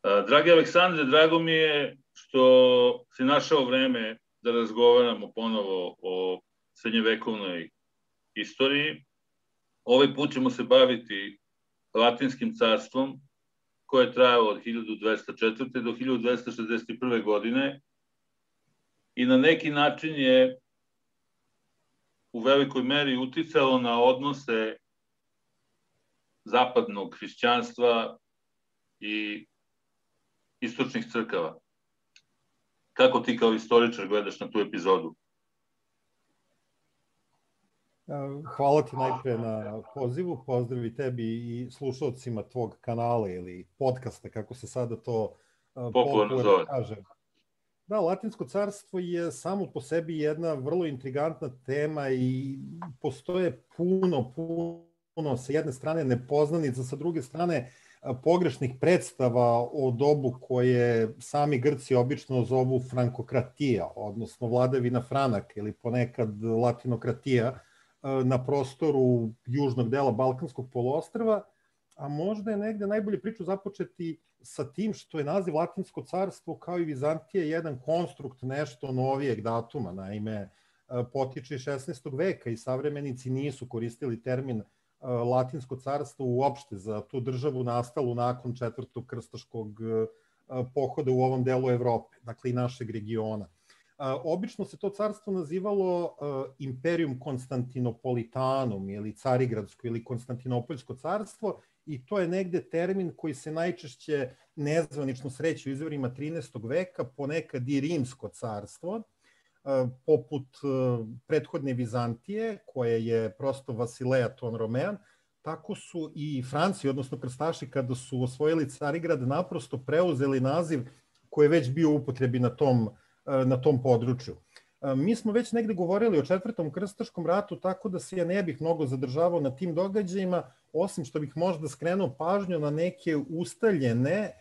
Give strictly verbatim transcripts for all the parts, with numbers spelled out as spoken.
Dragi Aleksandre, drago mi je što si našao vreme da razgovaramo ponovo o srednjevekovnoj istoriji. Ovaj put ćemo se baviti Latinskim carstvom, koje je trajalo od hiljadu dvesta četvrte. do hiljadu dvesta šezdeset prve. godine i na neki način je u velikoj meri uticalo na odnose zapadnog hrišćanstva i istočnih crkava. Kako ti kao istoričar gledaš na tu epizodu? Hvala ti najpre na pozivu, pozdrav i tebi i slušalcima tvog kanala ili podcasta, kako se sada to popularno zove. Kaže. Da, Latinsko carstvo je samo po sebi jedna vrlo intrigantna tema i postoje puno, puno, sa jedne strane nepoznanica, sa druge strane pogrešnih predstava o dobu koje sami Grci obično zovu frankokratija, odnosno vladavina Franaka ili ponekad latinokratija na prostoru južnog dela Balkanskog poluostrva, a možda je negde najbolje priču započeti sa tim što je naziv Latinsko carstvo kao i Vizantije jedan konstrukt nešto novijeg datuma. Naime, potiče iz šesnaestog veka i savremenici nisu koristili termin Latinsko carstvo uopšte za tu državu nastalu nakon četvrtog krstaškog pohoda u ovom delu Evrope, dakle i našeg regiona. Obično se to carstvo nazivalo Imperium Konstantinopolitanum ili Carigradsko ili Konstantinopoljsko carstvo i to je negde termin koji se najčešće nezvanično sreće u izvorima trinaestog veka, ponekad i Rimsko carstvo, poput prethodne Vizantije, koja je prosto Vasileja ton Romean, tako su i Franci, odnosno krstaši, kada su osvojili Carigrad, naprosto preuzeli naziv koji je već bio u upotrebi na tom, na tom području. Mi smo već negde govorili o četvrtom krstaškom ratu, tako da se ja ne bih mnogo zadržavao na tim događajima, osim što bih možda skrenuo pažnju na neke ustaljene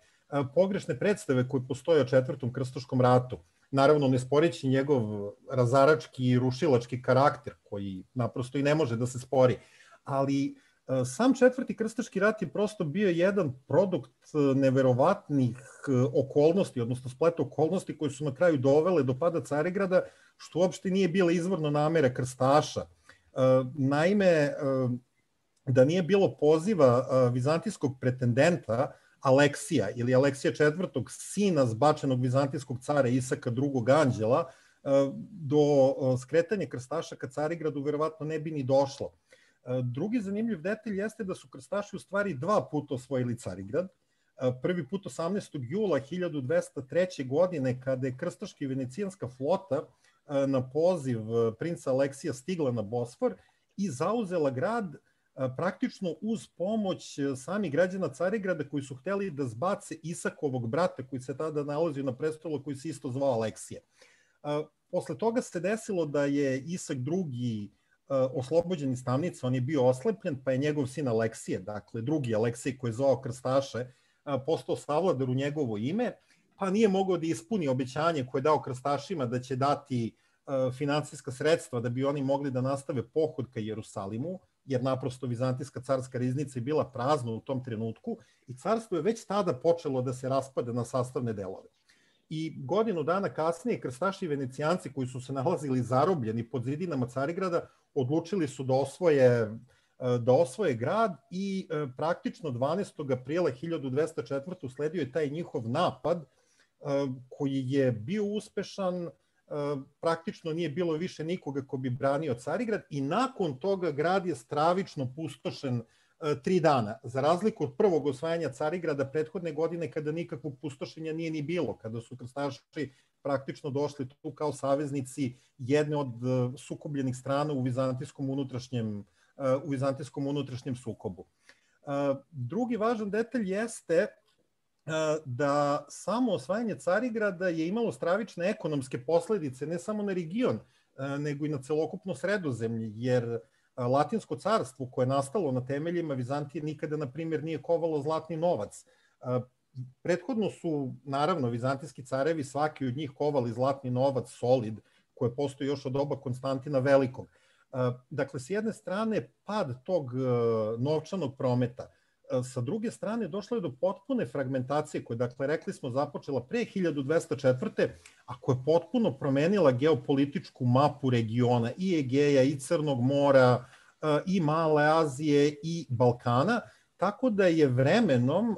pogrešne predstave koje postoje o četvrtom krstaškom ratu. Naravno, ne sporeći njegov razarački i rušilački karakter, koji naprosto i ne može da se spori. Ali sam četvrti krstaški rat je prosto bio jedan produkt neverovatnih okolnosti, odnosno spleta okolnosti koje su na kraju dovele do pada Carigrada, što uopšte nije bila izvorna namera krstaša. Naime, da nije bilo poziva vizantijskog pretendenta Aleksija ili Aleksija četvrtog, sina zbačenog vizantijskog cara Isaka drugog anđela, do skretanja krstaša ka Carigradu verovatno ne bi ni došlo. Drugi zanimljiv detalj jeste da su krstaši u stvari dva puta osvojili Carigrad. Prvi put osamnaestog jula hiljadu dvesta treće. godine, kada je krstaška i venecijanska flota na poziv princa Aleksija stigla na Bosfor i zauzela grad praktično uz pomoć samih građana Carigrada koji su hteli da zbace Isakovog brata koji se tada nalazio na prestolu, koji se isto zvao Aleksije. Posle toga se desilo da je Isak drugi oslobođen iz tamnice, on je bio oslepljen, pa je njegov sin Aleksije, dakle drugi Aleksij koji je zvao krstaše, postao savladar u njegovo ime, pa nije mogao da ispuni obećanje koje je dao krstašima da će dati finansijska sredstva da bi oni mogli da nastave pohod ka Jerusalimu, jer naprosto Vizantijska carska riznica je bila prazna u tom trenutku i carstvo je već tada počelo da se raspada na sastavne delove. I godinu dana kasnije krstaši i venecijanci koji su se nalazili zarobljeni pod zidinama Carigrada odlučili su da osvoje, da osvoje grad i praktično dvanaestog aprila hiljadu dvesta četvrte. usledio je taj njihov napad koji je bio uspešan, praktično nije bilo više nikoga ko bi branio Carigrad i nakon toga grad je stravično pustošen tri dana. Za razliku od prvog osvajanja Carigrada prethodne godine kada nikakvog pustošenja nije ni bilo, kada su krstaši praktično došli tu kao saveznici jedne od sukobljenih strana u vizantijskom unutrašnjem, u vizantijskom unutrašnjem sukobu. Drugi važan detalj jeste da samo osvajanje Carigrada je imalo stravične ekonomske posledice ne samo na region, nego i na celokupno Sredozemlje, jer Latinsko carstvo koje je nastalo na temeljima Vizantije nikada, na primjer, nije kovalo zlatni novac. Prethodno su, naravno, vizantijski carevi, svaki od njih kovali zlatni novac, solid, koje postoji još od doba Konstantina Velikog. Dakle, s jedne strane, pad tog novčanog prometa, sa druge strane, došlo je do potpune fragmentacije, koja, dakle, rekli smo, započela pre hiljadu dvesta četvrte. a koja je potpuno promenila geopolitičku mapu regiona i Egeja, i Crnog mora, i Male Azije, i Balkana, tako da je vremenom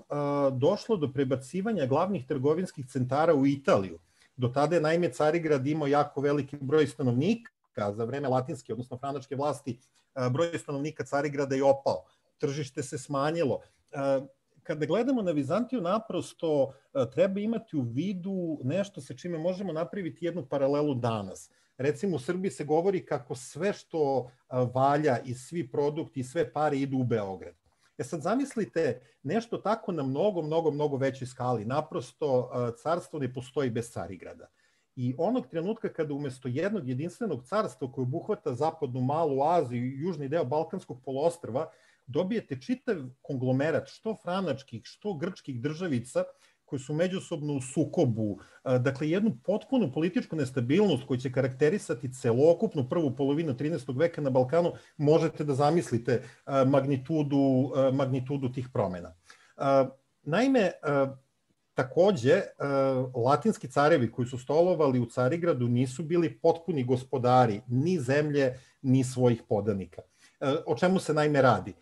došlo do prebacivanja glavnih trgovinskih centara u Italiju. Do tada je, naime, Carigrad imao jako veliki broj stanovnika, za vreme latinske, odnosno franačke vlasti, broj stanovnika Carigrada je opao. Tržište se smanjilo. Kada gledamo na Vizantiju, naprosto treba imati u vidu nešto sa čime možemo napraviti jednu paralelu danas. Recimo, u Srbiji se govori kako sve što valja i svi produkti i sve pare idu u Beograd. E sad zamislite nešto tako na mnogo, mnogo, mnogo većoj skali. Naprosto, carstvo ne postoji bez Carigrada. I onog trenutka kada umesto jednog jedinstvenog carstva koje obuhvata zapadnu Malu Aziju i južni deo Balkanskog poluostrva, dobijete čitav konglomerat što franačkih, što grčkih državica koji su međusobno u sukobu, dakle jednu potpunu političku nestabilnost koja će karakterisati celokupnu prvu polovinu trinaestog veka na Balkanu, možete da zamislite magnitudu, magnitudu tih promena. Naime, takođe, latinski carevi koji su stolovali u Carigradu nisu bili potpuni gospodari ni zemlje, ni svojih podanika. O čemu se naime radi?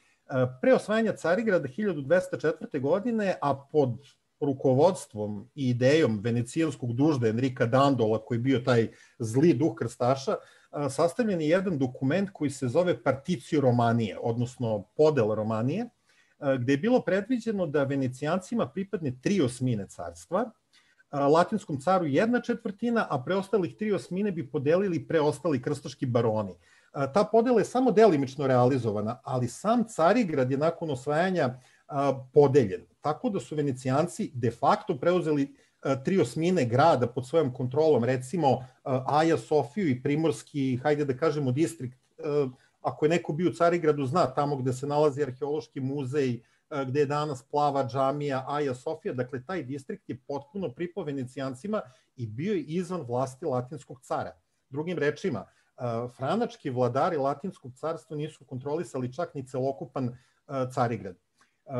Pre osvajanja Carigrada hiljadu dvesta četvrte. godine, a pod rukovodstvom i idejom venecijanskog dužda Enrika Dandola, koji je bio taj zli duh krstaša, sastavljen je jedan dokument koji se zove Particio Romanije, odnosno podela Romanije, gde je bilo predviđeno da Venecijancima pripadne tri osmine carstva, latinskom caru jedna četvrtina, a preostalih tri osmine bi podelili preostali krstaški baroni. Ta podela je samo delimično realizovana, ali sam Carigrad je nakon osvajanja podeljen. Tako da su Venecijanci de facto preuzeli tri osmine grada pod svojom kontrolom, recimo Aja Sofiju i primorski, hajde da kažemo, distrikt. Ako je neko bio u Carigradu, zna tamo gde se nalazi arheološki muzej, gde je danas plava džamija Aja Sofija, dakle taj distrikt je potpuno pripao Venecijancima i bio je izvan vlasti latinskog cara. Drugim rečima, franački vladari latinskog carstva nisu kontrolisali čak ni celokupan Carigrad.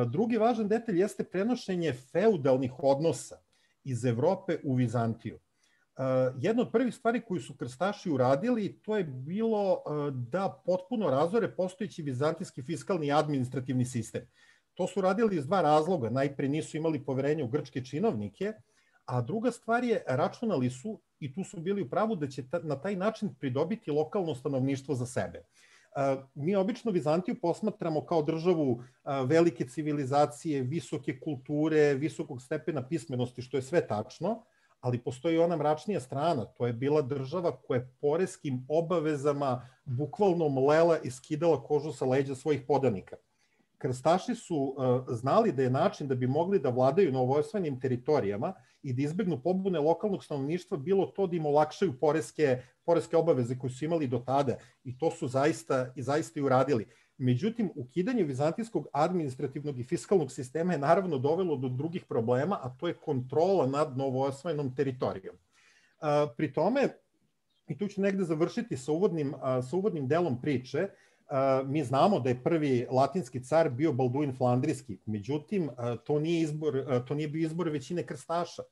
Drugi važan detalj jeste prenošenje feudalnih odnosa iz Evrope u Vizantiju. Jedna od prvih stvari koju su krstaši uradili, to je bilo da potpuno razore postojeći vizantijski fiskalni i administrativni sistem. To su radili iz dva razloga. Najpre nisu imali poverenja u grčke činovnike, a druga stvar je, računali su, i tu su bili u pravu, da će na taj način pridobiti lokalno stanovništvo za sebe. Mi obično Vizantiju posmatramo kao državu velike civilizacije, visoke kulture, visokog stepena pismenosti, što je sve tačno, ali postoji ona mračnija strana. To je bila država koja je poreskim obavezama bukvalno mlela i skidala kožu sa leđa svojih podanika. Krstaši su znali da je način da bi mogli da vladaju na ovojstvenim teritorijama i da izbegnu pobune lokalnog stanovništva bilo to da im olakšaju poreske, poreske obaveze koje su imali do tada, i to su zaista i zaista i uradili. Međutim, ukidanje vizantijskog administrativnog i fiskalnog sistema je naravno dovelo do drugih problema, a to je kontrola nad novoosvojenom teritorijom. Pri tome, i tu ću negde završiti sa uvodnim, sa uvodnim delom priče, mi znamo da je prvi latinski car bio Balduin Flandrijski, međutim, to nije, izbor, to nije bio izbor većine krstaša.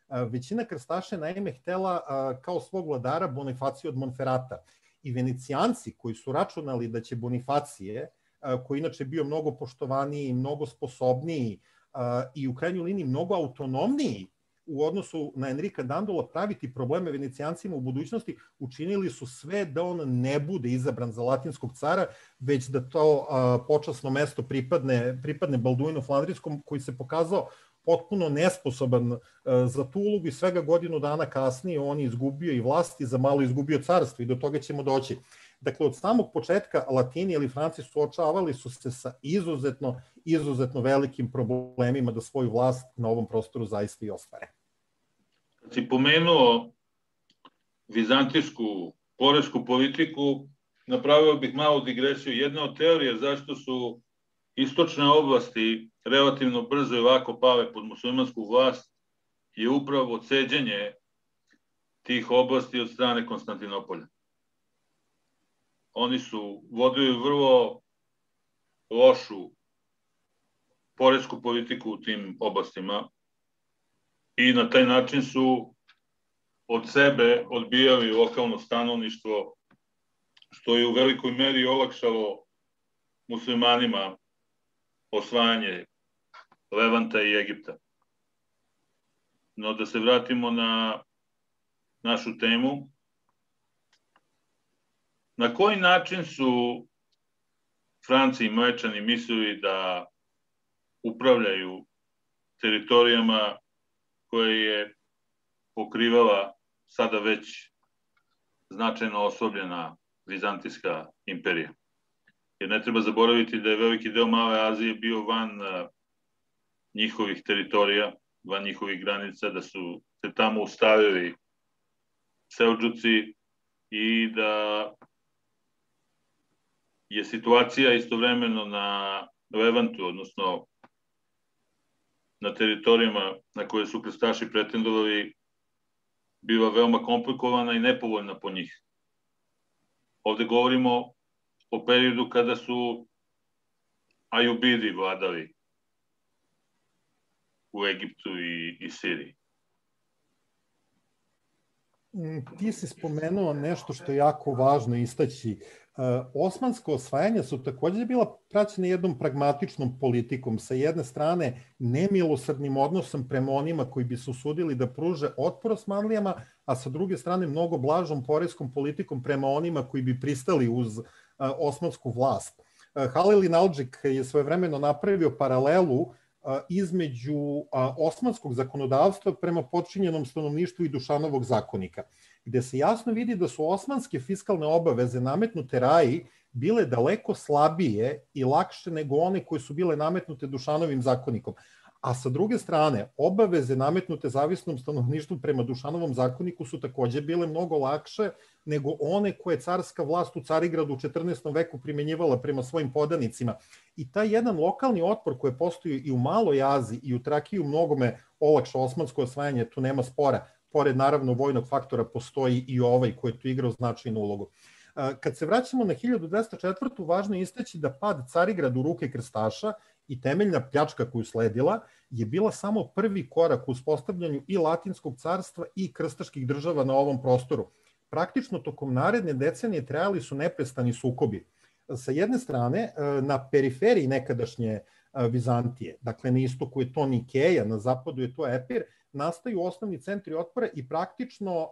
Većina krstaša je naime htela kao svog vladara Bonifaciju od Monferata. I Venecijanci koji su računali da će Bonifacije, koji inače bio mnogo poštovaniji, mnogo sposobniji i u krajnjoj liniji mnogo autonomniji u odnosu na Enrika Dandola, praviti probleme Venecijancima u budućnosti, učinili su sve da on ne bude izabran za latinskog cara, već da to počasno mesto pripadne, pripadne Balduinu Flandrijskom, koji se pokazao potpuno nesposoban za tu ulogu i svega godinu dana kasnije on je izgubio i vlast i za malo izgubio carstvo, i do toga ćemo doći. Dakle, od samog početka Latini ili Franci suočavali su se sa izuzetno, izuzetno velikim problemima da svoju vlast na ovom prostoru zaista i ostvare. Kad si pomenuo vizantijsku poresku politiku, napravio bih malu digresiju. Jedna od teorija zašto su istočne oblasti relativno brzo i lako pale pod muslimansku vlast je upravo ceđenje tih oblasti od strane Konstantinopolja. Oni su vodili vrlo lošu poresku politiku u tim oblastima i na taj način su od sebe odbijali lokalno stanovništvo, što je u velikoj meri olakšalo muslimanima osvajanje Levanta i Egipta. No da se vratimo na našu temu. Na koji način su Franci i Mlečani mislili da upravljaju teritorijama koje je pokrivala sada već značajno oslabljena Vizantijska imperija? Jer ne treba zaboraviti da je veliki deo Male Azije bio van njihovih teritorija, van njihovih granica, da su se tamo ustavili Seldžuci i da je situacija istovremeno na Levantu, odnosno na teritorijama na koje su krstaši pretendovali, bila veoma komplikovana i nepovoljna po njih. Ovde govorimo o periodu kada su Ajubidi vladali u Egiptu i, i Siriji. Ti si spomenuo nešto što je jako važno istaći. Osmansko osvajanje su takođe bila praćena jednom pragmatičnom politikom. Sa jedne strane, nemilosrdnim odnosom prema onima koji bi se usudili da pruže otpor Osmanlijama, a sa druge strane mnogo blažom poreskom politikom prema onima koji bi pristali uz osmansku vlast. Halil Inaldžik je svojevremeno napravio paralelu između osmanskog zakonodavstva prema potčinjenom stanovništvu i Dušanovog zakonika, gde se jasno vidi da su osmanske fiskalne obaveze nametnute Raji bile daleko slabije i lakše nego one koje su bile nametnute Dušanovim zakonikom. A sa druge strane, obaveze nametnute zavisnom stanovništvu prema Dušanovom zakoniku su takođe bile mnogo lakše nego one koje carska vlast u Carigradu u četrnaestom veku primenjivala prema svojim podanicima. I taj jedan lokalni otpor koji postoji i u Maloj Aziji i u Trakiji u mnogome olakša osmansko osvajanje, tu nema spora. Pored naravno vojnog faktora postoji i ovaj koji je tu igrao značajnu ulogu. Kad se vraćamo na hiljadu dvesta četvrtu. važno je istaći da pad Carigrada u ruke krstaša i temeljna pljačka koju sledila je bila samo prvi korak u uspostavljanju i Latinskog carstva i krstaških država na ovom prostoru. Praktično tokom naredne decenije trajali su neprestani sukobi. Sa jedne strane, na periferiji nekadašnje Vizantije, dakle na istoku je to Nikeja, na zapadu je to Epir, nastaju osnovni centri otpora i praktično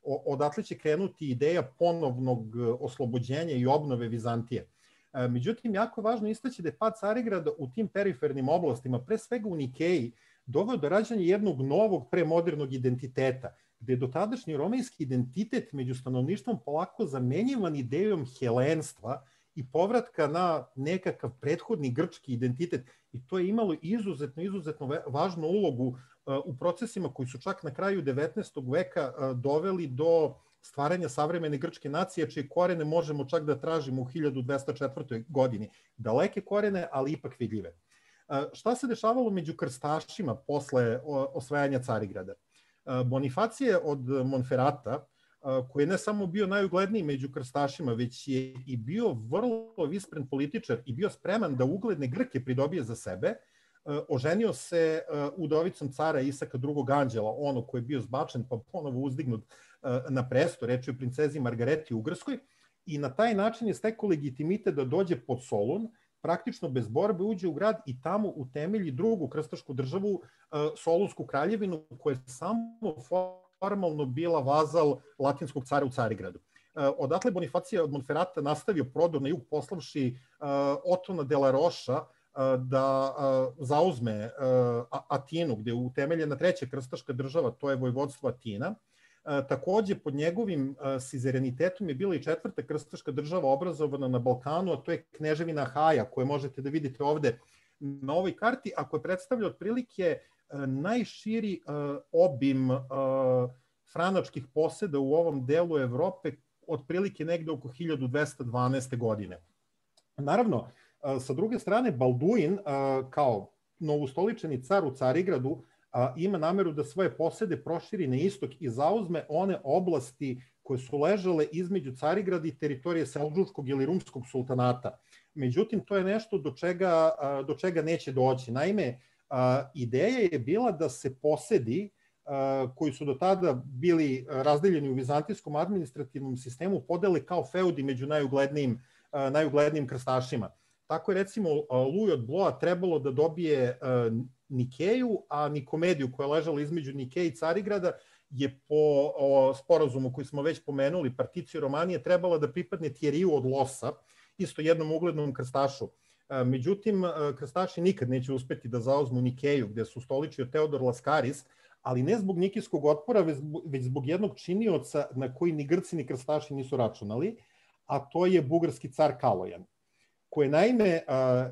odatle će krenuti ideja ponovnog oslobođenja i obnove Vizantije. Međutim, jako je važno istaći da je pad Carigrada u tim perifernim oblastima, pre svega u Nikeji, doveo do rađanja jednog novog premodernog identiteta, gde je dotadašnji romejski identitet među stanovništvom polako zamenjivan idejom helenstva i povratka na nekakav prethodni grčki identitet. I to je imalo izuzetno, izuzetno važnu ulogu u procesima koji su čak na kraju devetnaestog veka doveli do stvaranja savremene grčke nacije, čije korene možemo čak da tražimo u hiljadu dvesta četvrtoj. godini. Daleke korene, ali ipak vidljive. Šta se dešavalo među krstašima posle osvajanja Carigrada? Bonifacije od Monferata, koji je ne samo bio najugledniji među krstašima, već je i bio vrlo vispren političar i bio spreman da ugledne Grke pridobije za sebe, oženio se udovicom cara Isaka drugog Anđela, ono koji je bio zbačen pa ponovo uzdignut na presto, reč je o princezi Margareti Ugarskoj, i na taj način je stekao legitimitet da dođe pod Solun, praktično bez borbe uđe u grad i tamo utemelji drugu krstašku državu, Solunsku kraljevinu, koja je samo formalno bila vazal latinskog cara u Carigradu. Odatle Bonifacije od Monferata nastavio prodor na jug, poslavši Otona de la Roša da zauzme Atinu, gde je utemeljena treća krstaška država, to je vojvodstvo Atina. Takođe, pod njegovim sizerenitetom je bila i četvrta krstaška država obrazovana na Balkanu, a to je Kneževina Haja, koju možete da vidite ovde na ovoj karti, a koja predstavlja otprilike najširi obim franačkih poseda u ovom delu Evrope, otprilike negde oko hiljadu dvesta dvanaeste. godine. Naravno, sa druge strane, Balduin, kao novostoličeni car u Carigradu, ima nameru da svoje posede proširi na istok i zauzme one oblasti koje su ležale između Carigrada i teritorije Seldžučkog ili Rumskog sultanata. Međutim, to je nešto do čega, do čega neće doći. Naime, ideja je bila da se posedi koji su do tada bili razdeljeni u vizantijskom administrativnom sistemu podele kao feudi među najuglednijim, najuglednijim krstašima. Tako je recimo Luj od Bloa trebalo da dobije Nikeju, a Nikomediju koja je ležala između Nikeje i Carigrada je po sporazumu koji smo već pomenuli, Particio Romanije, trebala da pripadne Tjeriju od Losa, isto jednom uglednom krstašu. Međutim, krstaši nikad neće uspeti da zauzmu Nikeju, gde su stoličio Teodor Laskaris, ali ne zbog nikijskog otpora, već zbog jednog činioca na koji ni Grci ni krstaši nisu računali, a to je bugarski car Kalojan, koji je naime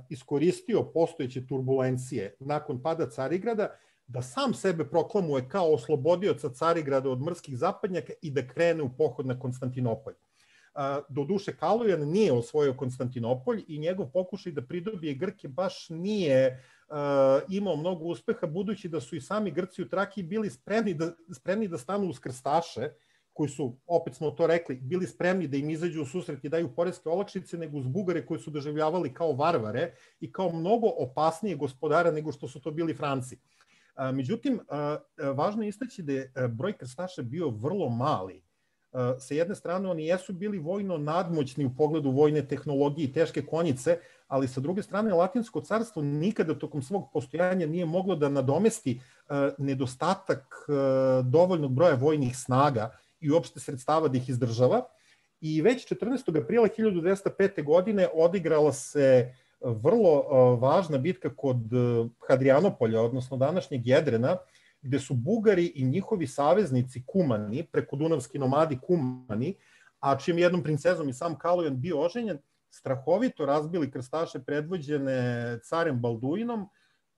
iskoristio postojeće turbulencije nakon pada Carigrada da sam sebe proklamuje kao oslobodioca Carigrada od mrskih zapadnjaka i da krene u pohod na Konstantinopolj. Doduše, Kalojan nije osvojio Konstantinopolj i njegov pokušaj da pridobije Grke baš nije imao mnogo uspeha, budući da su i sami Grci u Trakiji bili spremni da, spremni da stanu uz krstaše, koji su, opet smo to rekli, bili spremni da im izađu u susret i daju poreske olakšice, nego uz Bugare koji su doživljavali kao varvare i kao mnogo opasnije gospodara nego što su to bili Franci. Međutim, važno je istaći da je broj krstaša bio vrlo mali. Sa jedne strane, oni jesu bili vojno nadmoćni u pogledu vojne tehnologije i teške konjice, ali sa druge strane, Latinsko carstvo nikada tokom svog postojanja nije moglo da nadomesti nedostatak dovoljnog broja vojnih snaga i uopšte sredstava da ih izdržava. I već četrnaestog aprila hiljadu dvesta pete. godine odigrala se vrlo važna bitka kod Hadrianopolja, odnosno današnjeg Jedrena, gde su Bugari i njihovi saveznici Kumani, preko dunavski nomadi Kumani, a čijom jednom princezom i sam Kalojan bio oženjen, strahovito razbili krstaše predvođene carem Balduinom,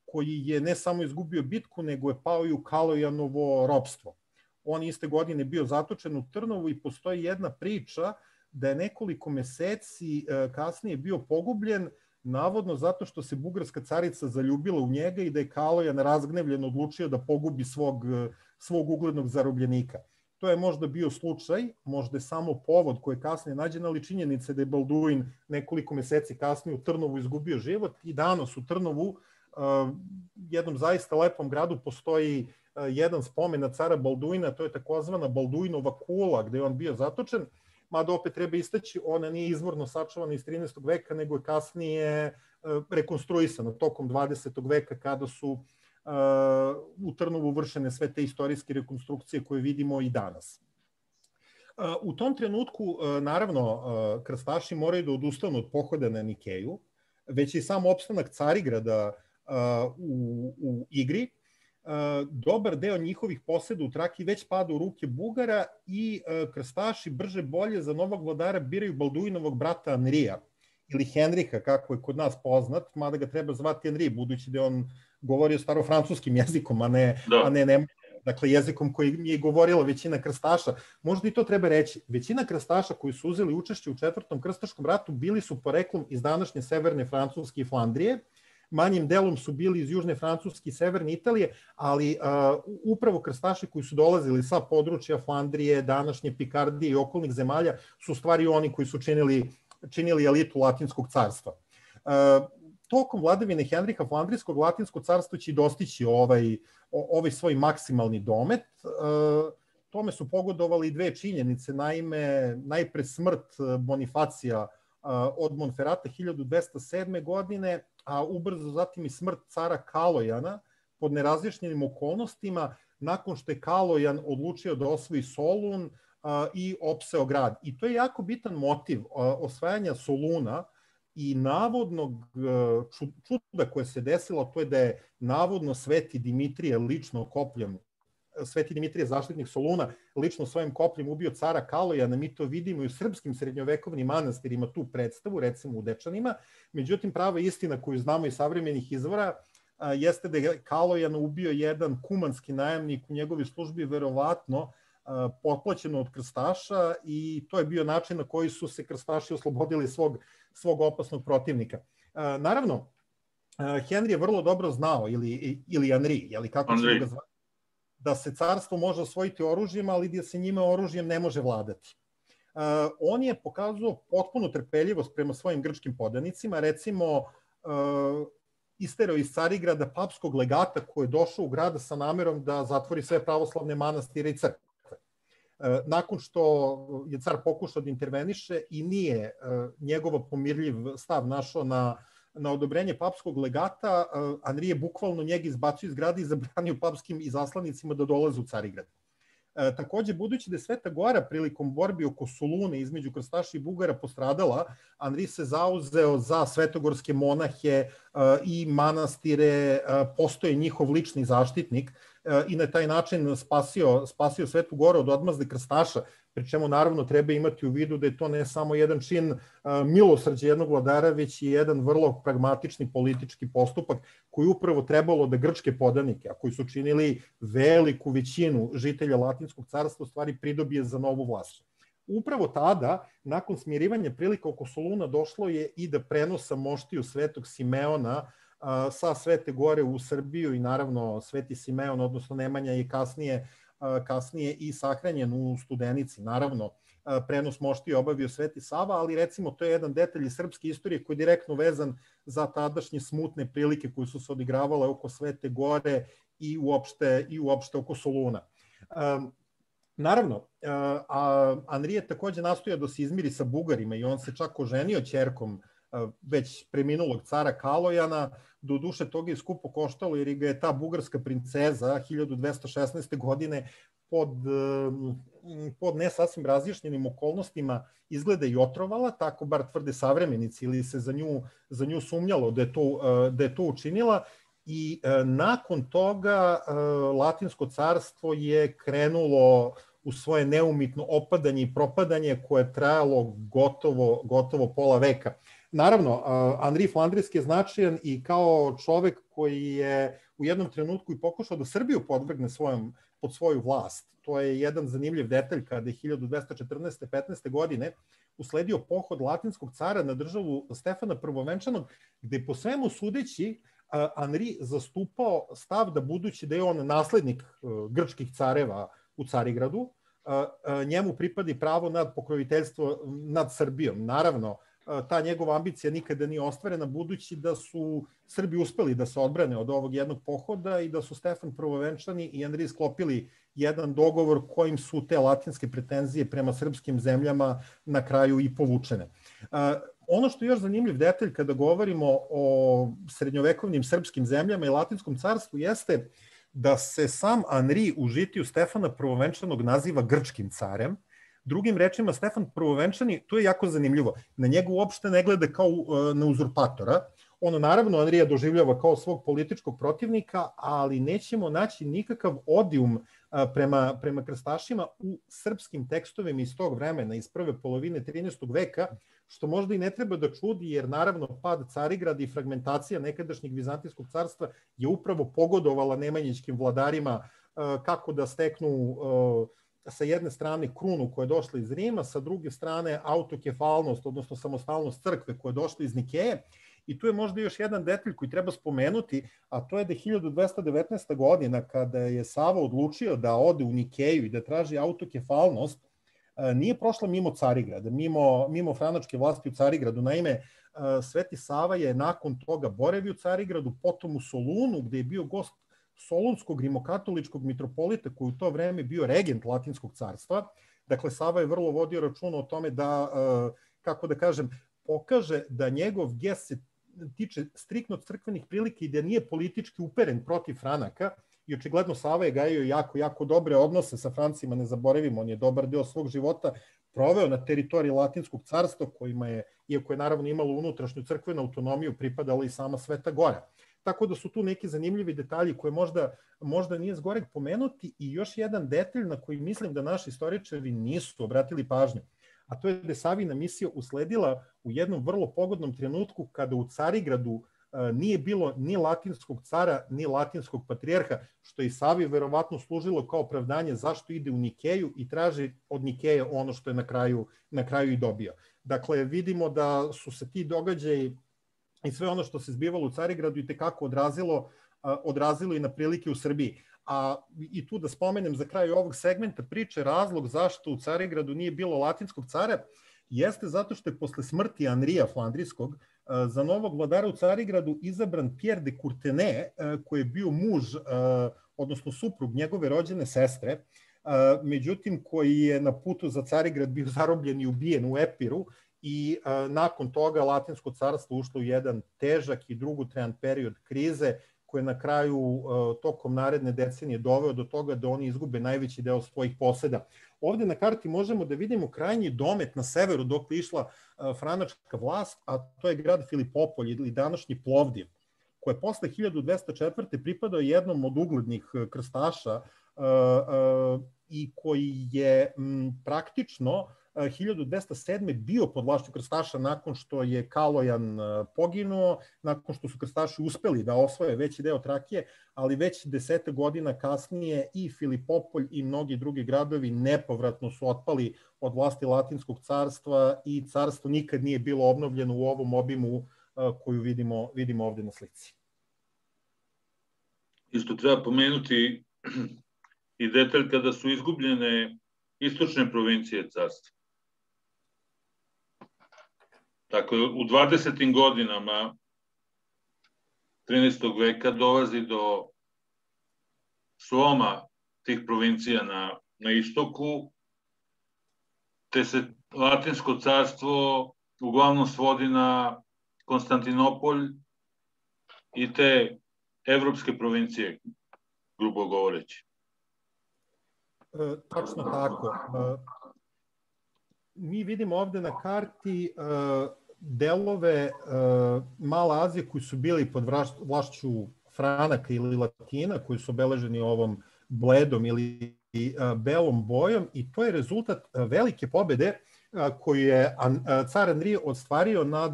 koji je ne samo izgubio bitku, nego je pao i u Kalojanovo ropstvo. On iste godine bio zatočen u Trnovu i postoji jedna priča da je nekoliko meseci kasnije bio pogubljen, navodno zato što se bugarska carica zaljubila u njega i da je Kalojan razgnevljen odlučio da pogubi svog, svog uglednog zarobljenika. To je možda bio slučaj, možda je samo povod koji je kasnije nađen, ali činjenica da je Balduin nekoliko meseci kasnije u Trnovu izgubio život i danas u Trnovu, jednom zaista lepom gradu, postoji jedan spomen na cara Balduina, to je takozvana Balduinova kula gde je on bio zatočen, mada opet treba istaći, ona nije izvorno sačuvana iz trinaestog veka, nego je kasnije rekonstruisana tokom dvadesetog veka, kada su u Trnovu vršene sve te istorijske rekonstrukcije koje vidimo i danas. U tom trenutku, naravno, krstaši moraju da odustanu od pohoda na Nikeju, već i sam opstanak Carigrada u, u igri. Dobar deo njihovih poseda u Trakiji već pada u ruke Bugara i krstaši brže bolje za novog vladara biraju Balduinovog brata Anrija, ili Henriha, kako je kod nas poznat, mada ga treba zvati Henri, budući da je on govorio starofrancuskim jezikom, a ne, da. a ne, ne dakle jezikom koji je govorila većina krstaša. Možda i to treba reći. Većina krstaša koji su uzeli učešće u četvrtom krstaškom ratu bili su poreklom iz današnje severne Francuske i Flandrije, manjim delom su bili iz južne Francuske i severne Italije, ali uh, upravo krstaši koji su dolazili sa područja Flandrije, današnje Pikardije i okolnih zemalja su stvari oni koji su činili, činili elitu Latinskog carstva. Uh, tokom vladavine Henriha Flandrijskog, Latinsko carstvo će dostići ovaj, ovaj svoj maksimalni domet. Uh, tome su pogodovali dve činjenice, naime, najpre smrt Bonifacija uh, od Monferata hiljadu dvesta sedme. godine, a ubrzo zatim i smrt cara Kalojana pod nerazjašnjenim okolnostima nakon što je Kalojan odlučio da osvoji Solun a, i opseo grad. I to je jako bitan motiv a, osvajanja Soluna i navodnog a, čuda koje se desilo, to je da je navodno Sveti Dimitrije lično kopljem, Sveti Dimitrije, zaštitnik Soluna, lično svojim kopljem ubio cara Kalojana. Mi to vidimo i u srpskim srednjovekovnim manastirima tu predstavu, recimo u Dečanima. Međutim, prava istina koju znamo iz savremenih izvora a, jeste da je Kalojan ubio jedan kumanski najamnik u njegovoj službi, verovatno a, potplaćeno od krstaša, i to je bio način na koji su se krstaši oslobodili svog, svog opasnog protivnika. A, naravno, a, Henry je vrlo dobro znao, ili, ili Henri, jeli, kako ćemo ga zvati, da se carstvo može osvojiti oružjem, ali da se njime oružjem ne može vladati. on je pokazao potpunu trpeljivost prema svojim grčkim podanicima, recimo isterao iz Carigrada papskog legata koji je došao u grad sa namerom da zatvori sve pravoslavne manastire i crkve. Nakon što je car pokušao da interveniše i nije njegov pomirljiv stav našao na, na odobrenje papskog legata, Andrije bukvalno njega izbacio iz grada i zabranio papskim izaslanicima da dolaze u Carigrad. Takođe, budući da je Sveta Gora prilikom borbi oko Solune između krstaša i Bugara postradala, Andrij se zauzeo za svetogorske monahe i manastire, postoje njihov lični zaštitnik i na taj način spasio, spasio Svetu Goru od odmazde krstaša, pri čemu naravno treba imati u vidu da je to ne samo jedan čin milosrđa jednog vladara, već i jedan vrlo pragmatični politički postupak koji upravo trebalo da grčke podanike, a koji su činili veliku većinu žitelja Latinskog carstva, u stvari pridobije za novu vlast. Upravo tada, nakon smirivanja prilika oko Soluna, došlo je i da prenosa moštiju Svetog Simeona sa Svete Gore u Srbiju i naravno Sveti Simeon, odnosno Nemanja, je kasnije kasnije i sahranjen u Studenici. Naravno, prenos moštije obavio Sveti Sava, ali recimo to je jedan detalj iz srpske istorije koji je direktno vezan za tadašnje smutne prilike koje su se odigravale oko Svete Gore i uopšte, i uopšte oko Soluna. Naravno, Andrije takođe nastoja da se izmiri sa Bugarima i on se čak oženio ćerkom već preminulog cara Kalojana. Do duše toga je skupo koštalo jer ga je ta bugarska princeza hiljadu dvesta šesnaeste. godine pod, pod ne sasvim razjašnjenim okolnostima izgleda i otrovala, tako bar tvrde savremenici, ili se za nju, za nju sumnjalo da je to, da je to učinila. I nakon toga Latinsko carstvo je krenulo u svoje neumitno opadanje i propadanje koje je trajalo gotovo, gotovo pola veka. Naravno, Andrij Flandrijski je značajan i kao čovek koji je u jednom trenutku i pokušao da Srbiju podvrgne svojom, pod svoju vlast. To je jedan zanimljiv detalj kada je hiljadu dvesta četrnaeste. petnaeste. godine usledio pohod Latinskog cara na državu Stefana Prvovenčanog, gde je po svemu sudeći Andrij zastupao stav da budući da je on naslednik grčkih careva u Carigradu, njemu pripadi pravo nad pokroviteljstvo nad Srbijom. Naravno, ta njegova ambicija nikada nije ostvarena, budući da su Srbi uspeli da se odbrane od ovog jednog pohoda i da su Stefan Prvovenčani i Andrij sklopili jedan dogovor kojim su te latinske pretenzije prema srpskim zemljama na kraju i povučene. Ono što je još zanimljiv detalj kada govorimo o srednjovekovnim srpskim zemljama i Latinskom carstvu jeste da se sam Andrij u žitiju Stefana Prvovenčanog naziva grčkim carem. Drugim rečima, Stefan Prvovenčani, to je jako zanimljivo, na njega uopšte ne gleda kao na uzurpatora. On naravno Andrija doživljava kao svog političkog protivnika, ali nećemo naći nikakav odijum prema, prema krstašima u srpskim tekstovima iz tog vremena, iz prve polovine trinaestog. veka, što možda i ne treba da čudi, jer naravno pad Carigrada i fragmentacija nekadašnjeg Vizantijskog carstva je upravo pogodovala nemanjićkim vladarima kako da steknu sa jedne strane krunu koja je došla iz Rima, sa druge strane autokefalnost, odnosno samostalnost crkve koja je došla iz Nikeje. I tu je možda još jedan detalj koji treba spomenuti, a to je da je hiljadu dvesta devetnaesta. godina, kada je Sava odlučio da ode u Nikeju i da traži autokefalnost, nije prošla mimo Carigrada, mimo, mimo franačke vlasti u Carigradu. Naime, Sveti Sava je nakon toga boravio u Carigradu, potom u Solunu, gde je bio gost solunskog rimokatoličkog mitropolita koji u to vreme bio regent Latinskog carstva. Dakle, Sava je vrlo vodio računa o tome da, kako da kažem, pokaže da njegov gest se tiče striktno crkvenih prilika i da nije politički uperen protiv Franaka. I očigledno Sava je gajio jako, jako dobre odnose sa Francima, ne zaboravimo, on je dobar deo svog života proveo na teritoriji Latinskog carstva, kojima je, iako je naravno imalo unutrašnju crkvenu autonomiju, pripadala i sama Sveta Gora. Tako da su tu neki zanimljivi detalji koje možda, možda nije zgoreg pomenuti. I još jedan detalj na koji mislim da naši istoričari nisu obratili pažnju, a to je da je Savina misija usledila u jednom vrlo pogodnom trenutku kada u Carigradu nije bilo ni latinskog cara, ni latinskog patrijarha, što je i Savi verovatno služilo kao opravdanje zašto ide u Nikeju i traži od Nikeje ono što je na kraju, na kraju i dobio. Dakle, vidimo da su se ti događaji i sve ono što se zbivalo u Carigradu i tekako odrazilo, odrazilo i na prilike u Srbiji. a i tu da spomenem za kraj ovog segmenta priče, razlog zašto u Carigradu nije bilo latinskog cara, jeste zato što je posle smrti Anrija Flandrijskog za novog vladara u Carigradu izabran Pierre de Courtenay, koji je bio muž, odnosno suprug njegove rođene sestre, međutim koji je na putu za Carigrad bio zarobljen i ubijen u Epiru i nakon toga Latinsko carstvo ušlo u jedan težak i dugotrajan period krize koji je na kraju tokom naredne decenije doveo do toga da oni izgube najveći deo svojih poseda. Ovde na karti možemo da vidimo krajnji domet na severu dok je išla franačka vlast, a to je grad Filipopolj ili današnji Plovdiv, koji je posle hiljadu dvesta četvrte pripadao jednom od uglednih krstaša i koji je praktično hiljadu dvesta sedme bio pod vlašću krstaša nakon što je Kalojan poginuo, nakon što su krstaši uspeli da osvoje veći deo Trakije, ali već desete godina kasnije i Filipopolj i mnogi drugi gradovi nepovratno su otpali od vlasti Latinskog carstva i carstvo nikad nije bilo obnovljeno u ovom obimu koju vidimo, vidimo ovde na slici. Isto treba pomenuti i detalj kada su izgubljene istočne provincije carstva. Tako u dvadesetim godinama trinaestog veka dolazi do sloma tih provincija na, na istoku, te se Latinsko carstvo uglavnom svodi na Konstantinopolj i te evropske provincije, grubo govoreći. E, tačno tako. E, mi vidimo ovde na karti e, delove e, Male Azije koji su bili pod vlašću Franaka ili Latina, koji su obeleženi ovom bledom ili e, belom bojom, i to je rezultat velike pobede e, koju je an, car Anrije ostvario nad